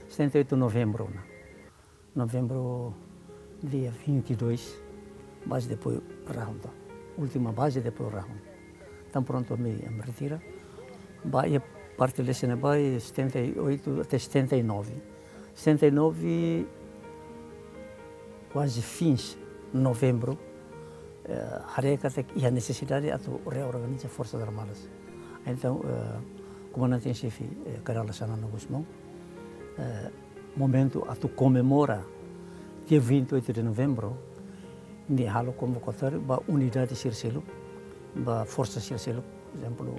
setenta e oito novembru ona. Novembru dia vinte e dois, baze de apoiu rahun, entaun. Última baze de apoiu rahun. Entaun prontu, ami, ami retira. Bá iha parte leste ne'ebá, setenta e oito até setenta e nove. Setenta e nove, kuaze fins novembru, eh, haree katak iha nesesidade atu reorganiza Forsas Armadas. Entaun, eh, Komandante em Xefe, eh, Kay Rala Xanana Gusmão, eh, momentu atu komemora dia vinte e oito de novembro, nia halo konvokatória ba unidade sira seluk, ba forsa sira seluk, por ezemplu,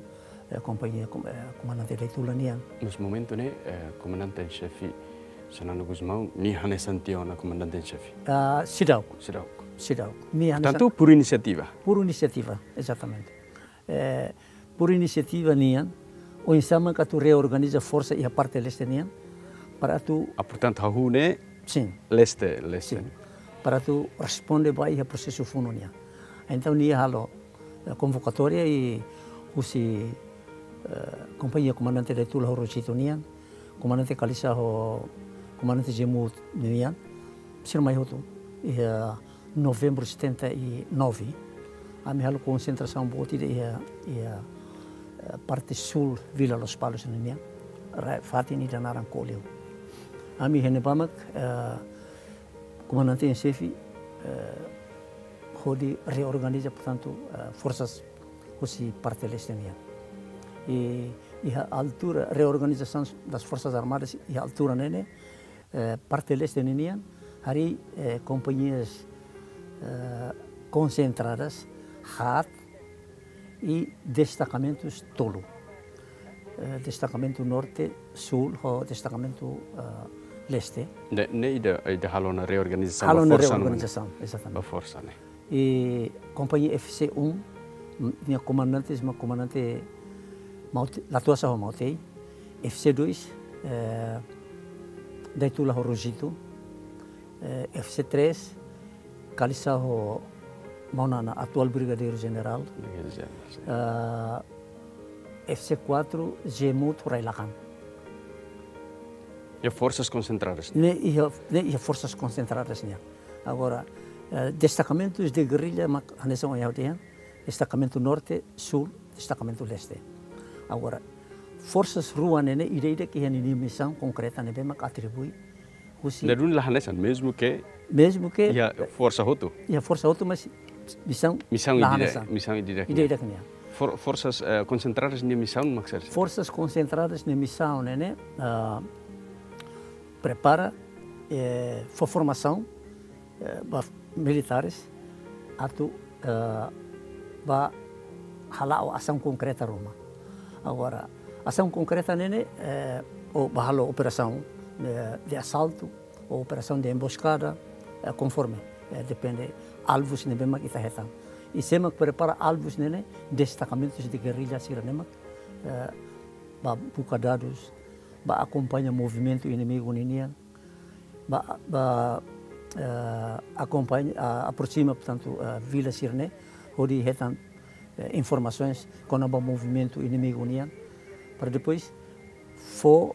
eh, kompañia kom-, eh, Komandante Daitula nian. Mas momentu ne'e, eh, Komandante em Xefe Xanana Gusmão, nia hanesan tiha ona Komandante em Xefe? Ah, seidauk. Seidauk. Seidauk. Nia hanesan. Portantu, por inisiativa? Por inisiativa, exatamente. Eh, por inisiativa nian, oinsá mak atu reorganiza forsa iha parte leste nian, para atu. Ah, portantu, hahú ne'e. Sin. Leste, leste. Sin. Para atu responde ba iha prosesu funu nian. Entaun, nia halo, eh, konvokatória i husi, eh, kompañia Komandante Daitula ho Rosito nian, Komandante Kalisá ho Komandante Jemut nian, sira mai hotu. Iha novembru setenta e nove, ami halo konsentrasaun boot ida iha, iha, eh, parte súl Vila Lospalos nian, ra-, fatin ida naran Koliu. Ami iha ne'ebá mak, eh, Komandante em Xefe, eh, hodi reorganiza, portantu, eh, forsas husi parte leste nian. I, iha altura, reorganização das Forças Armadas, iha altura ne'e ne'e, eh, parte leste ninian, harii, eh, kompañias, eh, konsentradas, haat, i destakamentus tolu. Eh, destakamentu norte, súl, ho destakamentu, eh, leste. Ne'e, ne'e ida, ida halo ona reorganizasaun. Halo ona ba forsa, reorganizasaun, exatamente. Ba forsa ne'e. I kompañia F C um, m-, nia komandantes mak Komandante Maute-, Latuasa ho Mautei. F C dois, eh, Daitula ho Rosito. Eh, F C três, Kalisá ho Maunana, atuál Brigadeiru Jenerál. Brigadeiru Jenerál, sin. Ah, F C quatro, Jemut ho Railakan. Iha forsas konsentradas? Ne'e iha, ne'e iha forsas konsentradas nian. Agora, eh, destakamentus de gerrilla mak hanesan ohin ha'u dehan, destakamentu norte, súl, destakamentu leste. Agora, Forsas rua ne'e ne'e ida-idak iha ninia misaun konkreta ne'ebé mak atribui husi. Ne'e duni la hanesan, mezmu ke Mezmu ke iha forsa hotu. Iha forsa hotu, mas misaun Misaun la ida, hanesan. Misaun ida. Ida-idak nian. For, forsas eh, konsentradas nia misaun mak saida? Forsas konsentradas nia misaun ne'e ne'e, ah, prepara eh, fó formasaun eh, ba militares atu eh, ba hala'o asaun konkreta ruma. Agora, asaun konkreta ne'e ne'e eh, ou ba halo operasaun eh, de asaltu ou operasaun de emboscada, eh, konforme, eh, depende alvus ne'ebé mak ita hetan. I sé mak prepara alvus ne'e ne'e, destakamentus de gerrilla sira ne'e mak eh, ba buka dadus, ba akompaña movimentu inimigu ninian, ba, ba eh, akompaña, ah, aproxima, portantu, eh, vila sira ne'e, hodi hetan eh, informasoens kona-ba movimentu inimigu nian, para depois fó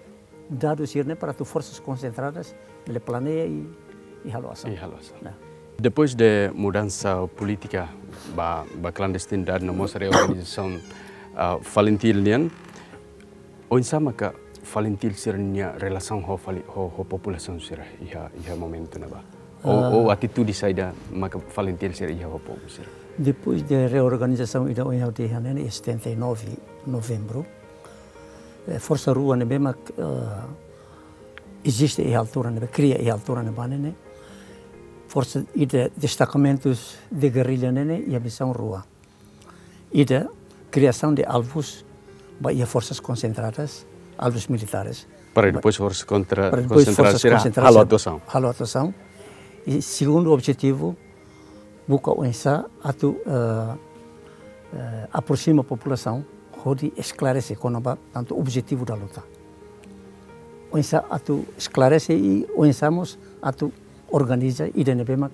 dadus sira ne'e para atu forsas konsentradas bele planeia i, i halo asaun. I halo asaun. Nah. Depois de mudansa polítika ba, ba klandestinidade no mós reorganizasaun ah, FALINTIL nian, oinsá maka FALINTIL sira-nia relasaun ho, fali, ho, ho populasaun sira iha, iha momentu ne'ebá? Ou, Ah. Ou atitude saida maka FALINTIL sira iha ho povu sira? Depois de reorganizasaun ida ohin ha'u dehan ne'e ne'e, setenta e nove Novembru, eh, forsa rua ne'ebé mak eh, eziste iha altura ne'ebá, kria iha altura ne'ebá ne'e ne'e, forsa ida, destakamentus de gerrilla ne'e ne'e iha misaun rua. Ida, kriasaun de alvus ba iha forsas konsentradas, alvus militares. Para depois forsas kontra, Para depois konsentradas forsas sira konsentradas halo sira atuasaun. Halo atuasaun. I segundu objetivu, buka oinsá atu eh, eh, aproxima populasaun hodi esklarese kona-ba tantu objetivu da luta. Oinsá atu esklarese i oinsá mós atu organiza ida ne'ebé mak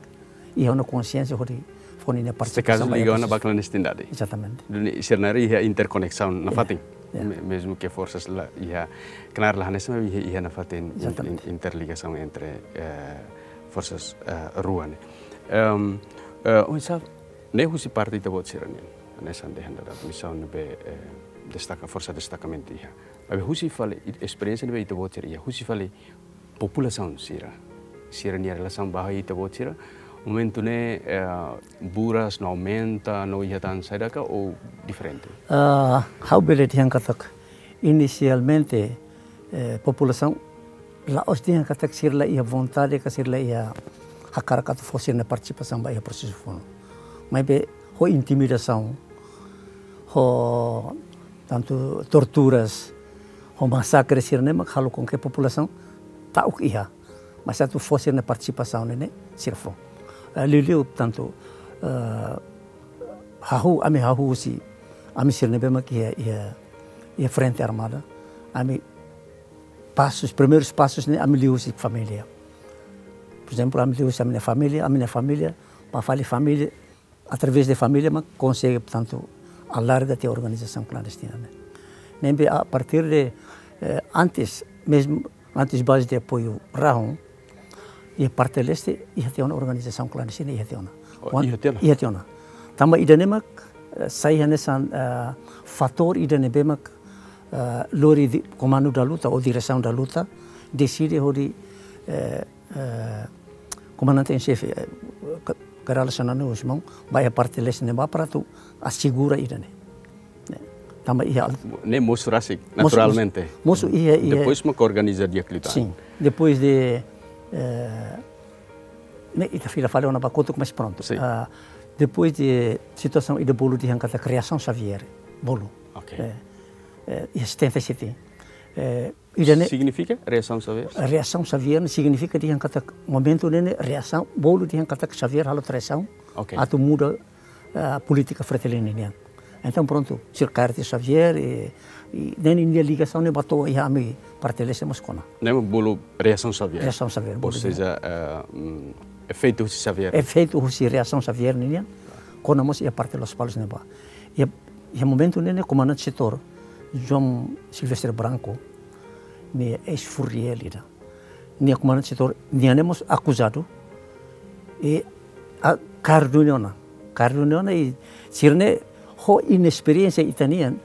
iha ona konsiénsia hodi fó ninia Se kazu partisipasaun ba liga ona prosesu. Ba klandestinidade. Exatamente. Duni sira-nia iha interkoneksaun nafatin. Ya. Me- Mezmu ke forsas la iha, knaar la hanesan, iha, iha nafatin in, in, Exatamente. Interligasaun entre eh, forsas eh, rua ne'e. Em, eh, oinsá, ne'e husi parte ita-boot sira-nian, hanesan dehan dadauk misaun ne'ebé eh, destaka, forsa destakamentu iha. Maibé husi fali, i- esperiénsia ne'ebé ita-boot sira iha, husi fali populasaun sira, sira-nia relasaun ba ita-boot sira, momentu ne'e eh, buras no aumenta, no iha tan saida ka ou diferente? Ah, ha'u bele dehan katak inisialmente eh, populasaun la'ós dehan katak sira la iha vontade ka sira la iha hakarak atu fó sira-nia partisipasaun ba iha prosesu funu. Maibé ho intimidasaun, ho tantu torturas, ho masakre sira ne'e mak halo com que populasaun ta'uk iha. Mas atu fó sira-nia partisipasaun ne'e ne'e sira fó. Eh, liuliu tantu eh, hahú, ami hahú husi, ami sira ne'ebé mak iha, iha, iha frente armada, ami pasus, primeirus pasus ne'e ami liu husi família. Por ezemplu, ami liu husi ami-nia família, ami-nia família, ba fali família, através de família mak konsege, portantu, alarga tiha organizasaun klandestina ne'e. Ne'ebé a partir de eh, antes, mezmu antes baze de apoiu Rahun, iha parte leste iha tiha ona organizasaun klandestina, iha tiha ona. Oh, Wan- iha tiha ona? Iha tiha ona. Tanba ida ne'e mak eh, sai hanesan eh, fatór ida ne'ebé mak eh, lori di, komandu da luta ou diresaun da luta deside hodi eh, eh, komandante en xefe eh, Ka-, Kay Rala Xanana Gusmão ba iha parte leste ne'ebá para atu asegura ida ne'e. Tanba iha al- Ne'e mosu rasik, Mosu- naturalmente. Mosu iha, iha. Depois mak organiza di'ak liután. Sim. Depois de eh, ne'e ita fila fali ona ba kotuk, mas pronto. Sim. Ah, depois de situasaun ida bolu dehan katak Reasaun Xavier, bolu. Ok. Eh, eh, iha setenta e sete. Eh, ida ne'e Signifika Reasaun Xavier? Reasaun Xavier ne'e signifika dehan katak momentu ne'e ne'e reasaun, bolu dehan katak Xavier halo traisaun, Ok. atu muda eh, polítika Fretilin nian. Entaun prontu, sira kaer tiha Xavier i, i ne'e ninia ligasaun ne'e ba to'o iha ami parte leste mós kona. Ne'e mak bolu Reasaun Xavier. Reasaun Xavier, Ou bolu seja, eh, mm, efeitu husi Xavier. Efeitu husi Reasaun Xavier nian, kona mós iha parte Lospalos ne'ebá. Iha, iha momentu ne'e ne'e komandante setór, João Silvestre Branco, nia eis-furriel ida. Nia komandante setór, nia ne'e mós akuzadu, i a, kaer duni ona. Kaer duni ona i sira ne'e ho inesperiénsia ita-nian,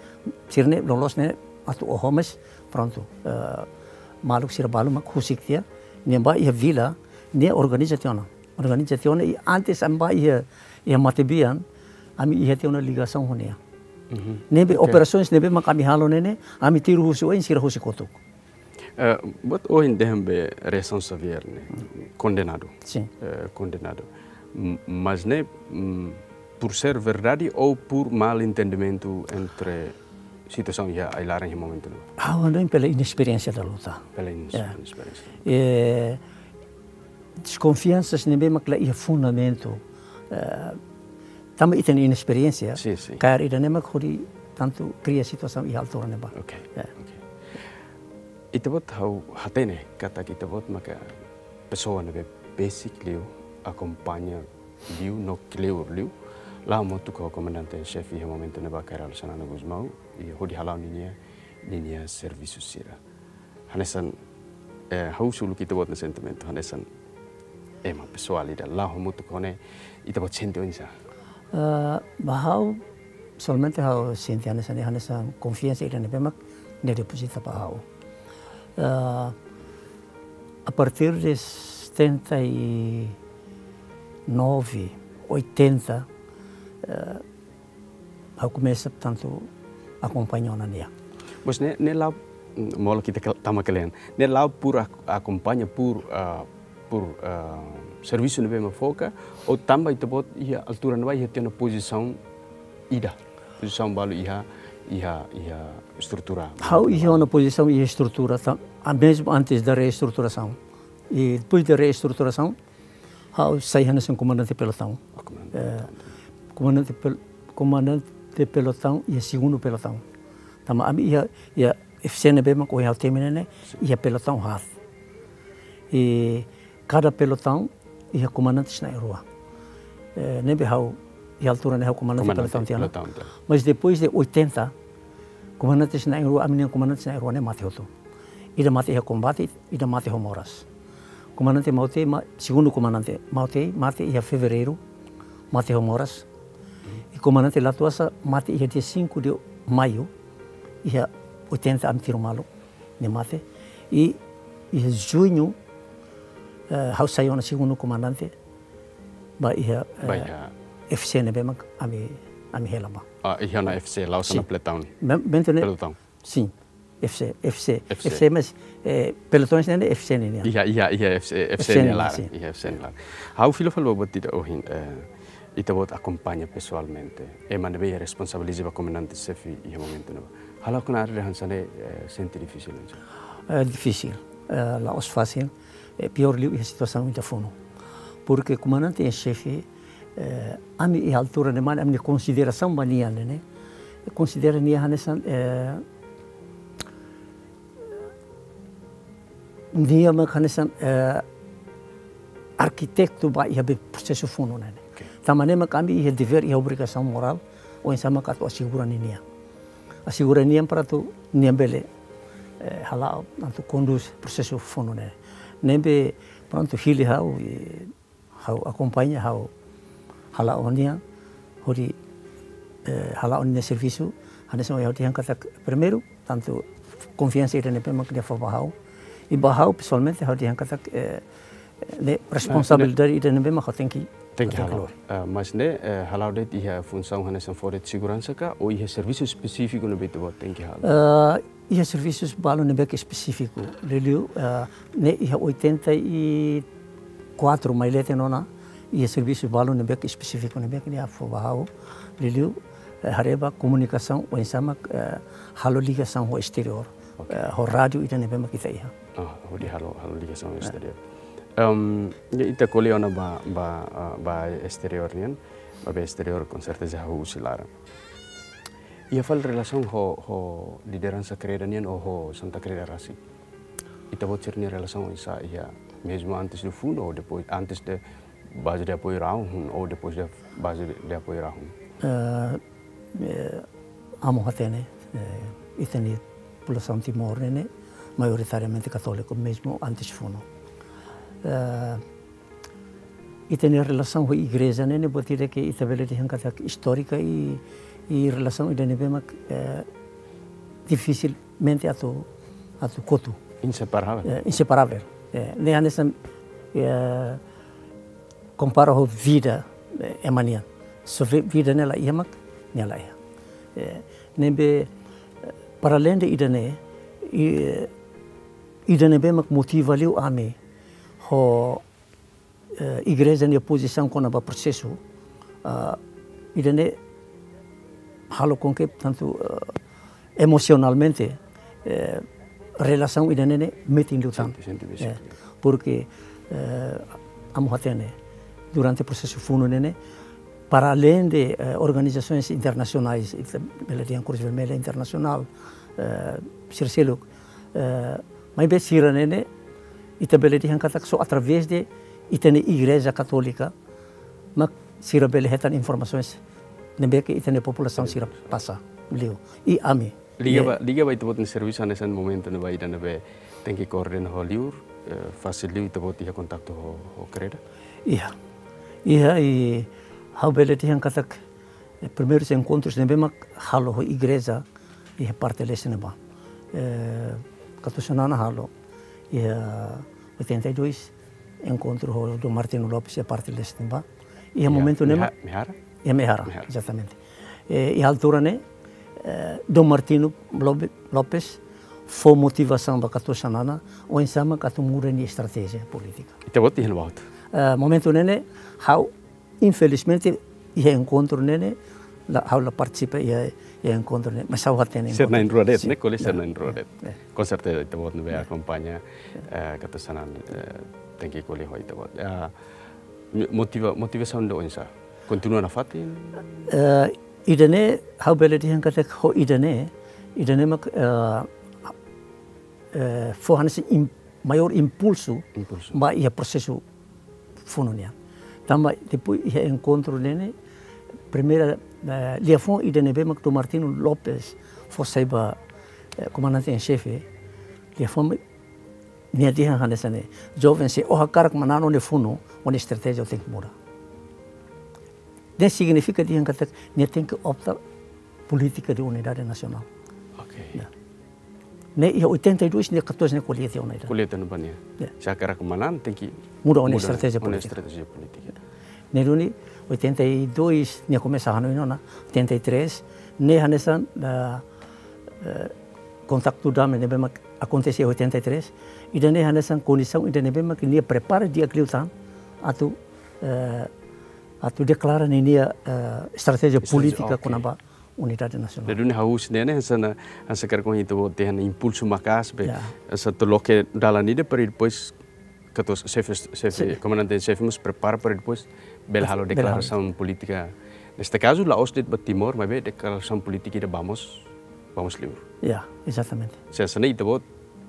sira ne'e loloos ne'e atu oho, mas prontu, eh, maluk sira balu mak husik tiha, nia bá iha vila, nia organiza tiha ona. Organiza tiha ona, i antes ami bá iha, iha matebian, ami iha tiha ona ligasaun ho nia. Mhm. Ne'ebé, oke, operasaun ne'ebé mak ami halo ne'e ne'e, ami tiru husi oin, sira husi kotuk. Eh, buat ohin dehan be reasaun Xavier ne'e, kondenadu. Sin. Eh, kondenadu. M-, mas ne'e, mm, por ser verdade ou por mal entendimentu entre situasaun iha ai-laran iha momentu ne'ebá? Ha'u hanoin pela inesperiénsia da luta. Pela ines-, ya, inesperiénsia. Eh, deskonfiansa ne'ebé mak la iha fundamentu, eh, tanba ita-nia inesperiénsia, sin, sin, kaer ida-ne'e mak hodi tantu kria situasaun iha altura ne'ebá. Oke, ya, oke. Ita-boot, ha'u hatene katak ita-boot maka pesoa ne'ebé besik liu, akompaña liu, no kleur liu, la'o hamutuk ho komandante en xefe iha momentu ne'ebá, Kay Rala Xanana Gusmão, i hodi hala'o ninia, ninia servisu sira. Hanesan, eh, ha'u husu uluk ita-boot nia sentimentu, hanesan ema pesoál ida la'o hamutuk ho ne'e, ita-boot sente oinsá? Eh, ba ha'u, somente ha'u sente hanesan, hanesan konfiansa ida ne'ebé mak nia depozita ba ha'u. Eh, a partir de setenta e nove, oitenta, eh, ha'u komesa, portantu, akompaña ona nia. Mas ne'e, ne'e la'o, mm, molok ita ke-, tama kle'an. Ne'e la'o por ak-, akompaña por, ah, por, ah, servisu ne'ebé mak fó ka, ou tanba ita-boot iha altura ne'ebá iha tiha ona pozisaun ida. Pozisaun balu iha, iha, iha estrutura. Ha'u iha ona pozisaun iha estrutura, ta-, a mesmo antes da reestruturação. E depois da reestruturação, ha'u sai hanesan komandante pelotaun. Oh, komandante, eh, pelotaun. Komandante pel-, komandante pelotaun iha segundu pelotaun. Tanba ami iha, iha F C ne'ebé mak ohin ha'u temi ne'e ne'e, sin, iha pelotaun haat. I kada pelotaun iha komandantes na'in-rua. Eh, ne'ebé ha'u iha altura ne'e ha'u komandante, komandante pelotaun tiha ona. Pelotaun tiha ona. Mas depois de oitenta, komandantes na'in-rua, ami-nia komandantes na'in-rua ne'e mate hotu. Ida mate iha kombate, ida mate ho moras. Komandante Mautei, ma-, segundu komandante Mautei, mate iha fevereiru, mate ho moras. I komandante Latuasa mate iha dia cinco de maio, iha oitenta, ami tiru malu, nia mate. I iha juñu, eh, ha'u sai ona segundu komandante, ba iha, ba eh, iha F C ne'ebé mak ami, ami hela ba. Ah, iha ona F C, la'o, sin, ona pelotaun. Mem-, momentu ne'e, pelotaun. Sin, F C, F C, F C. F C, mas, eh, pelotaun ne'e ne'e F C ne'e nian. Iha, iha, iha F C, F C, F C nia nian, laran, sin, iha F C nia laran. Ha'u fila fali ba buat ida ohin, eh, ita-boot akompaña pesoalmente ema ne'ebé iha responsabiliza ba komandante xefe iha momentu ne'ebá. Hala'o knaar dehan hanesan ne'e, eh, sente difisil, ne'e? Eh, difisil, eh, la'ós fasil, eh, piór liu iha situasaun ita funu. Porque komandante en xefe, eh, ami iha altura ne'ebá, ami-nia konsiderasaun ba nia ne'e ne'e, konsidera nia hanesan, eh, nia mak hanesan, eh, arkitetu ba iha be prosesu funu ne'e ne'e. Oke. Tanba ne'e mak ami iha devér, iha obrigasaun morál, oinsá mak atu asegura ninia. Asegura nian para atu nia bele, eh, hala'o, atu kondús prosesu funu ne'e. Ne'ebé, prontu, hili ha'u, eh, ha'u akompaña, ha'u hala'o nia, hodi, eh, hala'o nia servisu, hanesan ha'u dehan katak primeiru, tantu konfiansa ida ne'ebé mak nia fó ba ha'u. I ba ha'u pesoalmente ha'u dehan katak, eh, ne'e responsabilidade ida ne'ebé mak ha'u tenke, tenke, tenke hala'o. Lori. Ah, mas ne'e, eh, hala'o de'it iha funsaun hanesan fó de'it seguransa ka, ou iha servisu espesífiku ne'ebé ita-boot tenke halo? Eh, iha servisus balu ne'ebé ke espesífiku. Liuliu, eh, ne'e iha oitenta e quatro mai leten ona, iha servisu balu ne'ebé ke espesífiku ne'ebé ke nia fó ba ha'u. Liuliu, eh, haree ba komunikasaun, oinsá mak, eh, halo ligasaun ho esteriór. Oke. Eh, ho rádiu ida ne'ebé mak ita iha. Ah, hodi halo, halo ligasaun ho, eh, esteriór. Em, ya, ita ko'alia ona ba, ba, ah, ba esteriór nian, ba, ba esteriór konserteza ha'u husi laran. Iha fali relasaun ho, ho lideransa Kreda nian ou ho Santa Kreda rasik? Ita-boot sira-nia relasaun oinsá iha, mezmu antes de funu ou depois, antes de baze de apoiu rahun ou depois de baze de apoiu rahun? Eh, eh, amo hatene, eh, ita-nia populasaun Timor ne'e ne'e maioritariamente katóliku, mezmu antes funu. Eh, ita-nia relasaun ho igreja ne'e ne'e buat ida ke ita bele dehan katak istórika i, i relasaun ida ne'ebé mak, eh, dificilmente atu, atu kotu. Inseparável. Eh, inseparável. Eh, ne'e hanesan, eh, kompara ho vida, eh, ema nian. Se vi-, vida ne'e la iha mak, nia la iha. Eh, ne'ebé, eh, para além de ida-ne'e, i, eh, ida ne'ebé mak motiva liu ami ho, eh, igreja nia pozisaun kona-ba prosesu, ah, ida-ne'e halo com que tantu, eh, emosionalmente, eh, relasaun ida-ne'e ne'e metin liután. Sente, sente basic. Eh, porque, eh, ami hatene, durante prosesu funu ne'e ne'e, para além de, eh, organizações internacionais, ita bele dehan Cruz Vermelha Internacional, eh, sira seluk, eh, maibé sira ne'e ne'e, ita bele dehan katak só através de ita-nia Igreja Katólika, mak sira bele hetan informasaun ne'ebé ke ita-nia populasaun sira pasa liu. I ami. Liga ba, liga ba ita-boot nia servisu hanesan momentu ne'ebá ida ne'ebé tenke koordena ho liur, eh, fasil liu ita-boot iha kontaktu ho, ho Kreda? Iha. Iha, i ha'u bele dehan katak, eh, primeiru enkontrus ne'ebé mak halo ho igreja iha parte leste ne'ebá. Eh, Katuas Xanana halo iha oitenta e dois, enkontru ho Dom Martinho Lopes iha parte leste ne'ebá. Iha, iha momentu ne'e, Meha-, Mehara? Iha Mehara, Mehara. Exatamente. Eh, iha altura ne'e, eh, Dom Martinho Lobe-, Lopes fó motivasaun ba Katuas Xanana, oinsá mak atu muda nia estratéjia polítika. Ita-boot iha ne'ebá hotu? Eh, momentu ne'e ne'e, ha'u, infelizmente, iha enkontru ne'e ne'e, la, ha'u la partisipa iha, iha enkontru ne'e, mas ha'u hatene enkontru. Sira na'in-rua de'it, sin, ne'e ko'alia sira na'in-rua de'it. Ya. Com certeza, ita-boot ne'ebé akompaña, eh, Katuas Xanana, eh, tenke ko'alia ho ita-boot. Ah, motiva-, motivasaun ida oinsá? Kontinua nafatin? Eh, ida-ne'e, ha'u bele dehan katak ho ida-ne'e, ida-ne'e mak, eh, eh, fó hanesan im-, maior impulsu, impulsu, ba iha prosesu funu nian. Tanba depois iha enkontru ne'e ne'e, primeira, eh, liafuan ida ne'ebé mak Dom Martinho Lopes fó sai ba, eh, komandante en xefe, liafuan nia dehan hanesan ne'e: "Joven, se ó hakarak manán ó-nia funu, ó-nia estratéjia ó tenke muda." Ne'e signifika dehan katak nia tenke opta polítika de unidade nasionál. Ok. Ya. Ne'e iha oitenta e dois nia katuas ne'e ko'alia tiha ona ida. Ko'alia tiha ona ba nia. Ya. Se hakarak manán tenke muda ó-nia, muda estratéjia, ó-nia polítika, estratéjia polítika. Ne'e duni oitenta e dois nia komesa hanoin ona, oitenta e três, ne'e hanesan, ah, eh, kontaktu dame ne'ebé mak akontese oitenta e três, ida-ne'e hanesan kondisaun ida ne'ebé mak nia prepara di'ak liután atu, eh, atu deklara ninia, eh, estratéjia, estratéjia polítika, ok, kona-ba unidade nasionál. Jadi, ne'e ha'u husu ne'e, ne'e, hanesan, hanesan karik ohin ita-boot dehan impulsu maka'as be, ya, hanesan atu loke dalan ida para depois katuas xefe, xefe, sin, komandante en xefe mós prepara para depois bele halo, bele halo deklarasaun polítika. Neste kazu, la'ós de'it ba Timor, maibé deklarasaun polítika ida ba mós, ba mós liur. Ya, exatamente. Se hanesan ne'e ita-boot,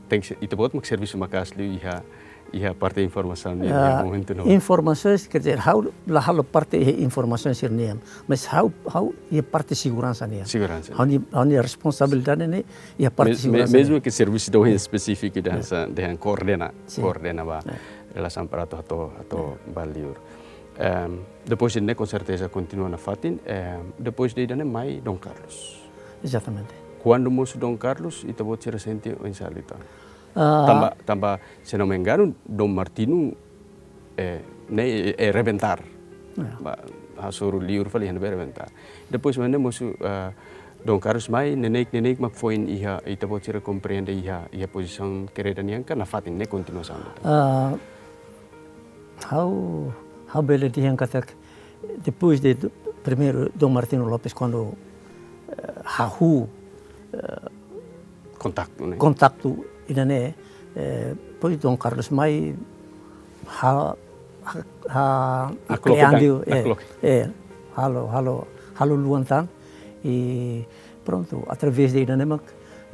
tenke ser, ita-boot mak servisu maka'as liu iha, iha parte informasaun nian, ya, iha momentu ne'ebá. Informasaun, quer dizer, ha'u la halo parte iha informasaun sira-nian, mas ha'u, ha'u iha parte seguransa nian. Seguransa. Ha'u-nia, ha'u-nia responsabilidade ne'e iha parte, me-, me-, seguransa nian. Mezmu ke servisu ida ohin, ya, espesífiku dehan, ya, hanesan, dehan koordena, sin, koordena ba, ya, relasaun para atu, atu, atu, ya, ba liur. Em, depois de ne'e, com certeza, kontinua nafatin, em, depois de ida-ne'e mai Dom Carlos. Exatamente. Kuandu mosu Dom Carlos, ita-boot sira sente oinsá liután? Ah. Tanba, tanba, se não me engano, Dom Martinho, eh, ne'e, eh, rebentar. Ya. Ba, hasoru liur fali iha ne'ebé rebentar. Depois, mas ne'e mosu, ah, Dom Carlos mai, neineik, neineik mak foin iha, ita-boot sira komprende iha, iha pozisaun Kreda nian ka nafatin ne'e kontinuasaun? Ah, ha'u, ha'u bele dehan katak, depois de do-, primeiru Dom Martinho Lopes, kuandu, eh, hahú, eh, kontaktu, ne'e? Kontaktu ida-ne'e, eh, depois Dom Carlos mai, ha-, ha-, ha-, hakloke klean tan, diu, eh, hakloke, eh, halo, halo, halo luan tan, i prontu, através de ida-ne'e mak,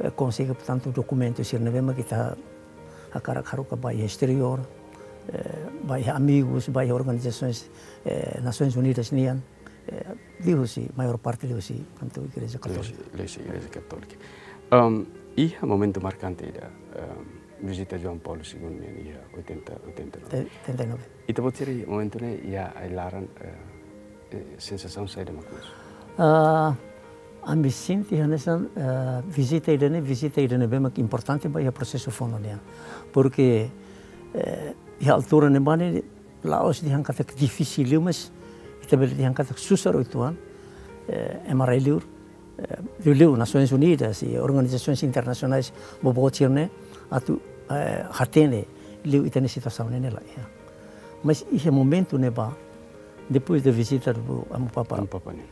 eh, konsege, portantu, dokumentu sira ne'ebé mak ita hakarak haruka ba iha exteriór, eh, ba iha amigus, ba iha organizasoens, eh, Nasoins Unidas nian, eh, liuhusi, maiór parte liuhusi, portantu, Igreja Katólika. Liuhusi, liuhusi Igreja Katólika. Em, iha momentu markante ida, em, vizita João Paulo Segundo nian iha oitenta, oitenta e nove. Te-, oitenta e nove. Ita-boot sira momentu ne'e iha ai-laran, eh, eh, sensasaun saida mak mosu? Ah, Ami sente hanesan, eh, vizita ida-ne'e, vizita ida ne'ebé mak importante ba iha prosesu fono nian. Porque, eh, iha altura ne'ebá ne'e la'ós dehan katak difisil liu, mas ita bele dehan katak susar uitoan, eh, ema rai-liur, eh, liuliu Nasoins Unidas i organizasoens internasionais boboot sira-ne'e atu, eh, hatene liu ita-nia situasaun ne'e la iha. Mas iha momentu ne'ebá, depois da visita do Amu Papa, Amu Papa ne'e.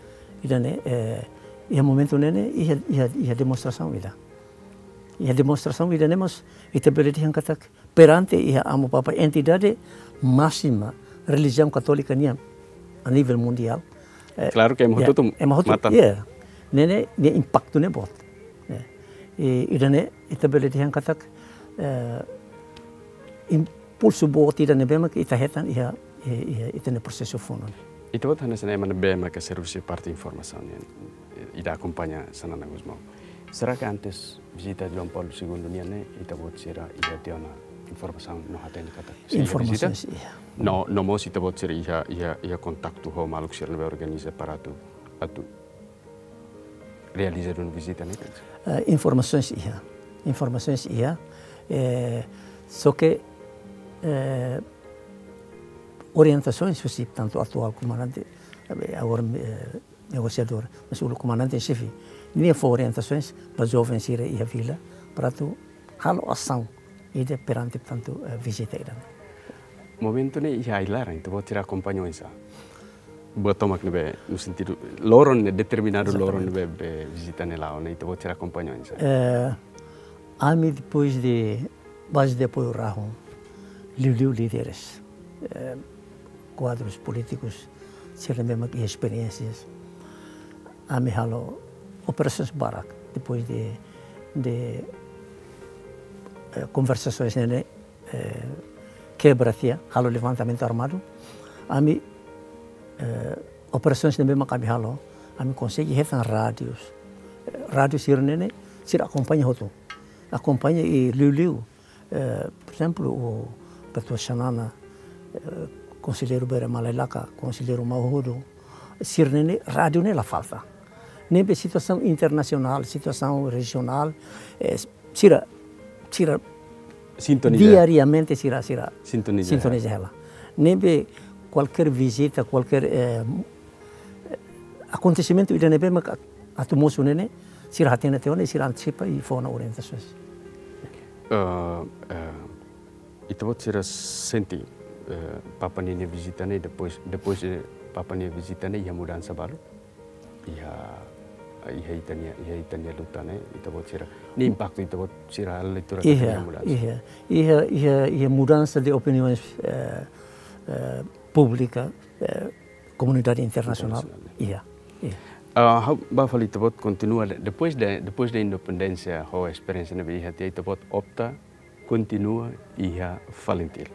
Ida-ne'e, eh, iha momentu ne'e ne'e, iha, iha, iha demonstrasaun ida. Iha demonstrasaun ida-ne'e mós, ita bele dehan katak, perante iha Amu Papa, entidade máxima relijiaun katólika nian a nivel mundiál. Eh, klaru ke ema hotu-hotu, ema hotu-hotu matan. Ya. Ne'e ne'e, nia impaktu ne'e boot. Ya. I, ida-ne'e, ita bele dehan katak, eh, impulsu boot ida ne'ebé mak ita hetan iha, iha, iha ita-nia prosesu fono. Ita-boot hanesan ema ne'ebé mak servisu parte informasaun nian, ita akompaña Xanana Gusmão. Será ke antes vizita João Paulo Segundo nian ne'e, ita-boot sira iha tiha ona informasaun no hatene katak sei iha vizita? Informasaun sira iha. No, no mós ita-boot sira iha, iha, iha kontaktu ho maluk sira ne'ebé organiza para atu, atu realiza duni vizita ne'e kan? Eh, informasaun sira iha. Informasaun sira iha. Eh, só ke, eh, orientasaun husi tantu atuál komandante, eh, agora, eh, negosiadór, mas uluk komandante-en-xefe, nia fó orientasaun ba joven sira iha vila, para atu halo asaun ida perante tantu, eh, vizita ida. Momentu ne'e iha ai-laran, ita-boot sira akompaña oinsá? Buat tomak ne'ebé, no sentidu, loron ne'e determinadu loron ne'ebé, be vizita ne'e la'o, ne'e ita-boot sira akompaña oinsá? Eh, ami depois de baze de apoiu Rahun, liuliu líderes, eh, kuadrus polítikus, sira ne'ebé mak iha esperiénsias. Ami halo operasaun barak, depois de, de, eh, konversasoens ne'e, eh, kebra tiha, halo levantamentu armadu. Ami, eh, operasaun ne'ebé mak ami halo, ami konsege hetan rádius. Eh, rádiu sira-ne'e ne'e, sira akompaña hotu. Akompaña i liuliu, eh, por ezemplu, o Ketua Xanana, eh, Konselleiru Bere Malailaka, Konselleiru Mauhudu, sira-ne'e ne'e rádiu ne'e la falta. Ne'ebé situasaun internasionál, situasaun rejionál, eh, sira, sira sintoniza. Diariamente sira, sira sintoniza. Sintoniza hela. Ne'ebé kualkér vizita, kualkér, eh, akontesimentu ida ne'ebé mak atu mosu ne'e ne'e, sira hatene tiha ona, sira antisipa i fó ona orientasaun. Eh, eh, ita-boot sira sente, eh, Papa ninia vizita ne'e, depois, depois de Papa nia vizita ne'e, iha mudansa balu? Iha, iha ita-nia, iha ita-nia luta ne'e, ita-boot sira. Nia impaktu ita-boot sira halo leitura katak iha mudansa. Iha, iha, iha, iha mudansa de opiniões, eh, eh, públika, eh, komunidade internasionál. Internasionál. Iha, iha. Ah, ha'u ba fali ita-boot kontinua de-, depois de, depois de independénsia, ho esperiénsia ne'ebé iha tiha, ita-boot opta kontinua iha Falintil.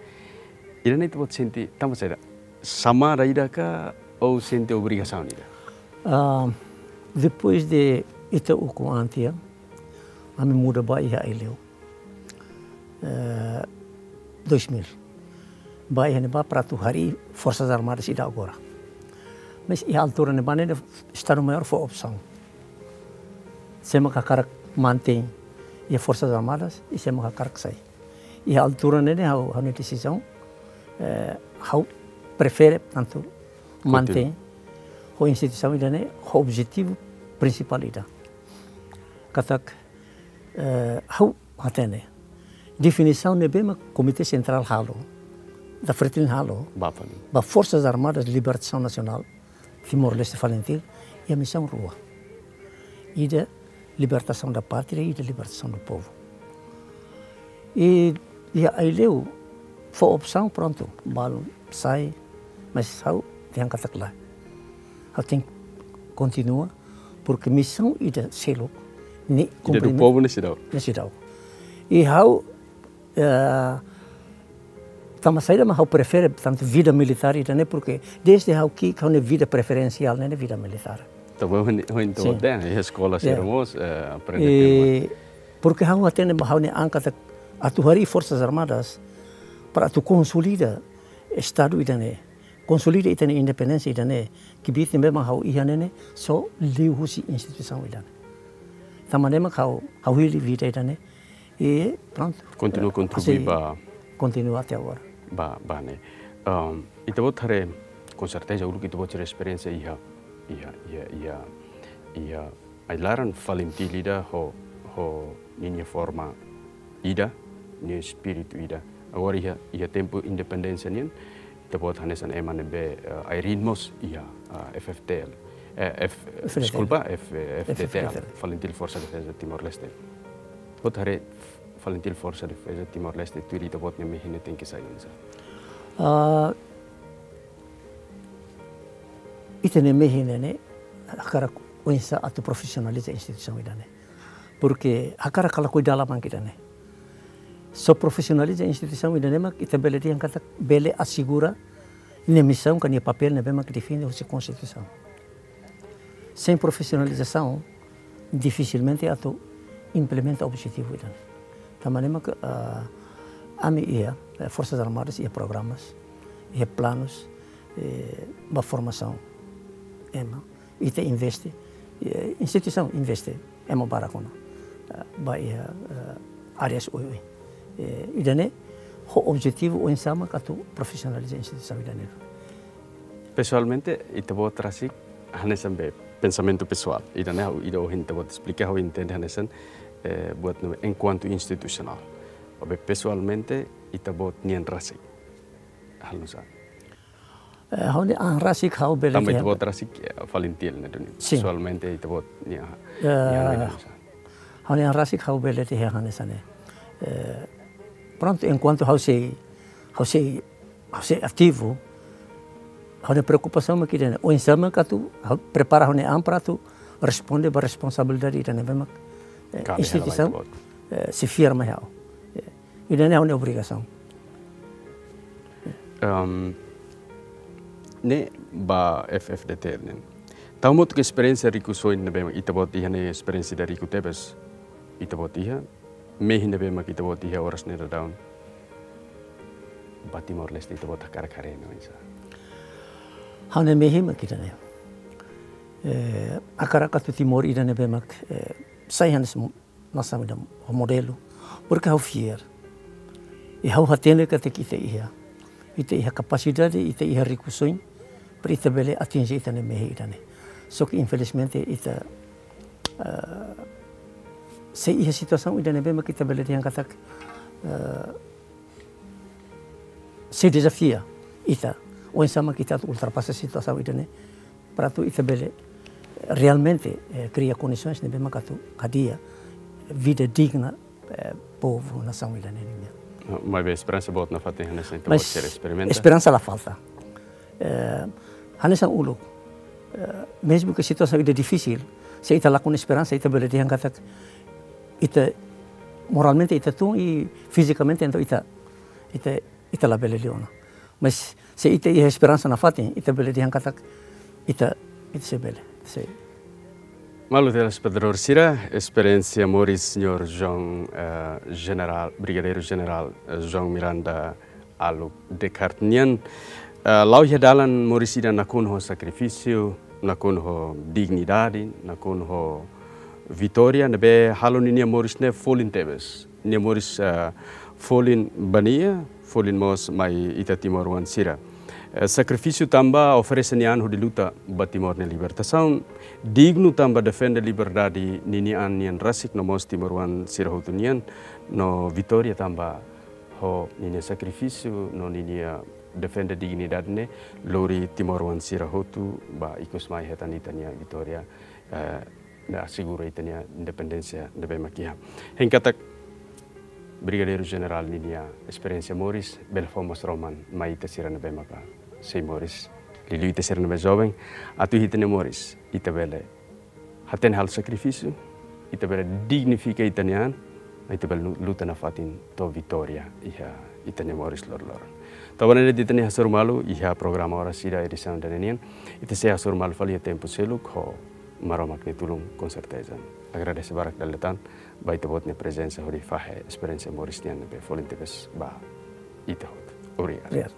Ida-ne'e ita-boot sente tanba saida? Xamada ida ka ou sente obrigasaun ida? Ah, depois de ita ukun an tiha, ami muda ba iha Aileu. Eh, dois mil. Ba iha ne'ebá para atu harii Forsas Armadas ida agora. Mas iha altura ne'ebá ne'e Estadu Maiór fó opsaun. Sé mak hakarak mantein iha Forsas Armadas, i sé mak hakarak sai. Iha altura ne'e ne'e ha'u, ha'u-nia desizaun, eh, ha'u prefere, portantu, mantein ho instituisaun ida-ne'e, ho objetivu prinsipál ida. Katak, eh, ha'u hatene definisaun ne'ebé mak Komité Sentrál halo, da Fretilin halo, ba fali, ba Forsas Armadas Libertasaun Nasionál Timor-Leste, Falintil, iha misaun rua. Ida libertasaun da pátria, ida libertasaun do povu. I, iha Aileu fó opsaun, prontu, balun sai, mas ha'u dehan katak lae. Ha'u tenke kontinua, porque misaun ida seluk ne'e, ida do komprime-, povu ne'e seidauk. Ne'e seidauk. I ha'u, eh, tanba saida mak ha'u prefere tantu vida militár ida-ne'e, porque desde ha'u ki'ik ha'u-nia vida preferensiál ne'e, ne'e vida militár. Tanba ohin, ohin ita, sin, dehan, iha eskola, ya, sira mós, eh, aprende. I, tema, porque ha'u hatene ba ha'u-nia an katak atu harii Forsas Armadas para atu konsolida Estadu ida-ne'e. konsolida ita-nia independénsia ida-ne'e, kbiit ne'ebé mak ha'u iha ne'e ne'e, só liuhusi instituisaun ida-ne'e. Tanba ne'e mak ha'u, ha'u hili vida ida-ne'e, i prontu. Kontinua eh, kontribui asi, ba kontinua até agora. Ba, ba ne'e. Ehm, ita-boot haree, com certeza, uluk ita-boot sira esperiénsia iha, iha, iha, iha, iha ai-laran FALINTIL ida ho, ho ninia forma ida, ninia espíritu ida. Agora iha, iha tempu independénsia nian, ita-boot hanesan ema ne'ebé, eh, ai-riin mós iha, eh, F F T L. Eh, F, F F T L. Deskulpa, F, F D T L, F F D T L. FALINTIL Forsa Defesa Timor-Leste. Boot haree FALINTIL Forsa Defesa Timor-Leste, tuir ita-boot nia mehi ne'e tenke sai oinsá? Ah, ita-nia mehi ne'e ne'e, hakarak oinsá atu profisionaliza instituisaun ida-ne'e. Porke hakarak ka lakohi dala mak ida-ne'e. Só profisionaliza instituisaun ida-ne'e mak ita bele dehan katak bele asegura nia misaun ka nia papél ne'ebé mak define husi Konstituisaun. Sein profisionalizasaun, difisilmente atu implementa objetivu ida-ne'e. Tanba ne'e mak, ah, ami iha, eh, Forsas Armadas iha programas, iha planus, eh, ba formasaun ema. Ita investe, eh, instituisaun investe ema barak ona, eh, ba iha, eh, áreas oioin. Eh, ida-ne'e ho objetivu oinsá mak atu profisionaliza instituisaun ida-ne'e. Pesoalmente, ita-boot rasik hanesan be, pensamentu pesoál. Ida-ne'e, ida ohin ita-boot esplika, ha'u entende hanesan, eh, buat ne'e enkuantu institusionál. Maibé pesoalmente, ita-boot nian rasik halo nu'usá? Eh, ha'u-nia an rasik ha'u bele dehan. Tanba ita-boot rasik, eh, FALINTIL ne'e duni. Sin. Pesoalmente ita-boot nia, eh, nia an rasik ha'u bele dehan hanesan ne'e. Eh, prontu, enkuantu ha'u sei, ha'u sei, ha'u sei ativu, ha'u-nia preokupasaun mak ida-ne'e. Oinsá mak atu, ha'u prepara ha'u-nia an para atu responde ba responsabilidade ida ne'ebé mak, eh, instituisaun, eh, sei fiar mai ha'u. Eh, ida-ne'e ha'u-nia obrigasaun. Ehm, ne'e ba F F D T ne'e. Tau motu ke esperiénsia riku soin ne'ebé mak ita-boot iha ne'e esperiénsia ida riku tebes. Ita-boot iha, mehi ne'ebé mak ita-boot iha oras ne'e daudaun. Ba Timor-Leste ita-boot hakarak haree ne'e oinsá? Ha'u-nia mehi mak ida-ne'e. Eh, hakarak atu Timor ida ne'ebé mak, eh, sai hanesan nasaun ida ho modelu. Porke ha'u fiar. I ha'u hatene katak ita iha. Ita iha kapasidade, ita iha riku soin, para ita bele atinje ita-nia mehi ida-ne'e. Só ke infelizmente ita, eh, sei iha situasaun ida ne'ebé mak ita bele dehan katak, eh, sei dezafia ita. Oinsá mak ita atu ultrapasa situasaun ida-ne'e, para atu ita bele realmente, eh, kria kondisoens ne'ebé mak atu hadi'a vida digna, eh, povu, nasaun ida-ne'e nian. Maibé esperansa boot nafatin hanesan ita-boot sira esperimenta? Esperansa la falta. Eh, hanesan uluk. Eh, mezmu ke situasaun ida difisil, se ita lakon esperansa, ita bele dehan katak ita moralmente ita tun i fizikamente entaun ita, ita, ita labele liu ona. Mas se ita iha esperansa nafatin, ita bele dehan katak ita, ita sei bele, sei. Malu telespetadór sira, esperiénsia moris Señór João, eh, Jenerál, Brigadeiru Jenerál, eh, João Miranda Allude Cart nian, eh, la'o iha dalan moris ida nakonu ho sakrifísiu, nakonu ho dignidade, nakonu ho vitória, ne'ebé halo ninia moris ne'e folin tebes. Nia moris, eh, folin ba nia, folin mós mai ita timoroan sira. Eh, sakrifísiu tanba oferese nia an hodi luta ba Timor nia libertasaun, dignu tanba defende liberdade ninia an nian rasik no mós timoroan sira hotu nian, no vitória tanba ho ninia sakrifísiu no ninia defende dignidade ne'e lori timoroan sira hotu ba ikus mai hetan ita-nia vitória, eh, no asegura ita-nia independénsia ne'ebé mak iha. Hein katak Brigadeiru Jenerál ninia esperiénsia moris bele fó mós roman mai ita sira ne'ebé maka sei moris, liuliu ita sira ne'ebé joven, atu ita-nia moris ita bele hatene halo sakrifísiu, ita bele dignifika ita-nia an, ita bele lu-, luta nafatin to'o vitória iha ita-nia moris loroloron. Tanba ne'e ita-nia hasoru malu iha programa Oras Ida edisaun ida-ne'e nian, ita sei hasoru malu fali iha tempu seluk ho Maromak nia tulun, com certeza. Agradese barak dala ida tan ba ita-boot nia prezensa hodi fahe esperiénsia moris nian ne'ebé folin tebes ba ita hotu. Obrigadu. Obrigadu.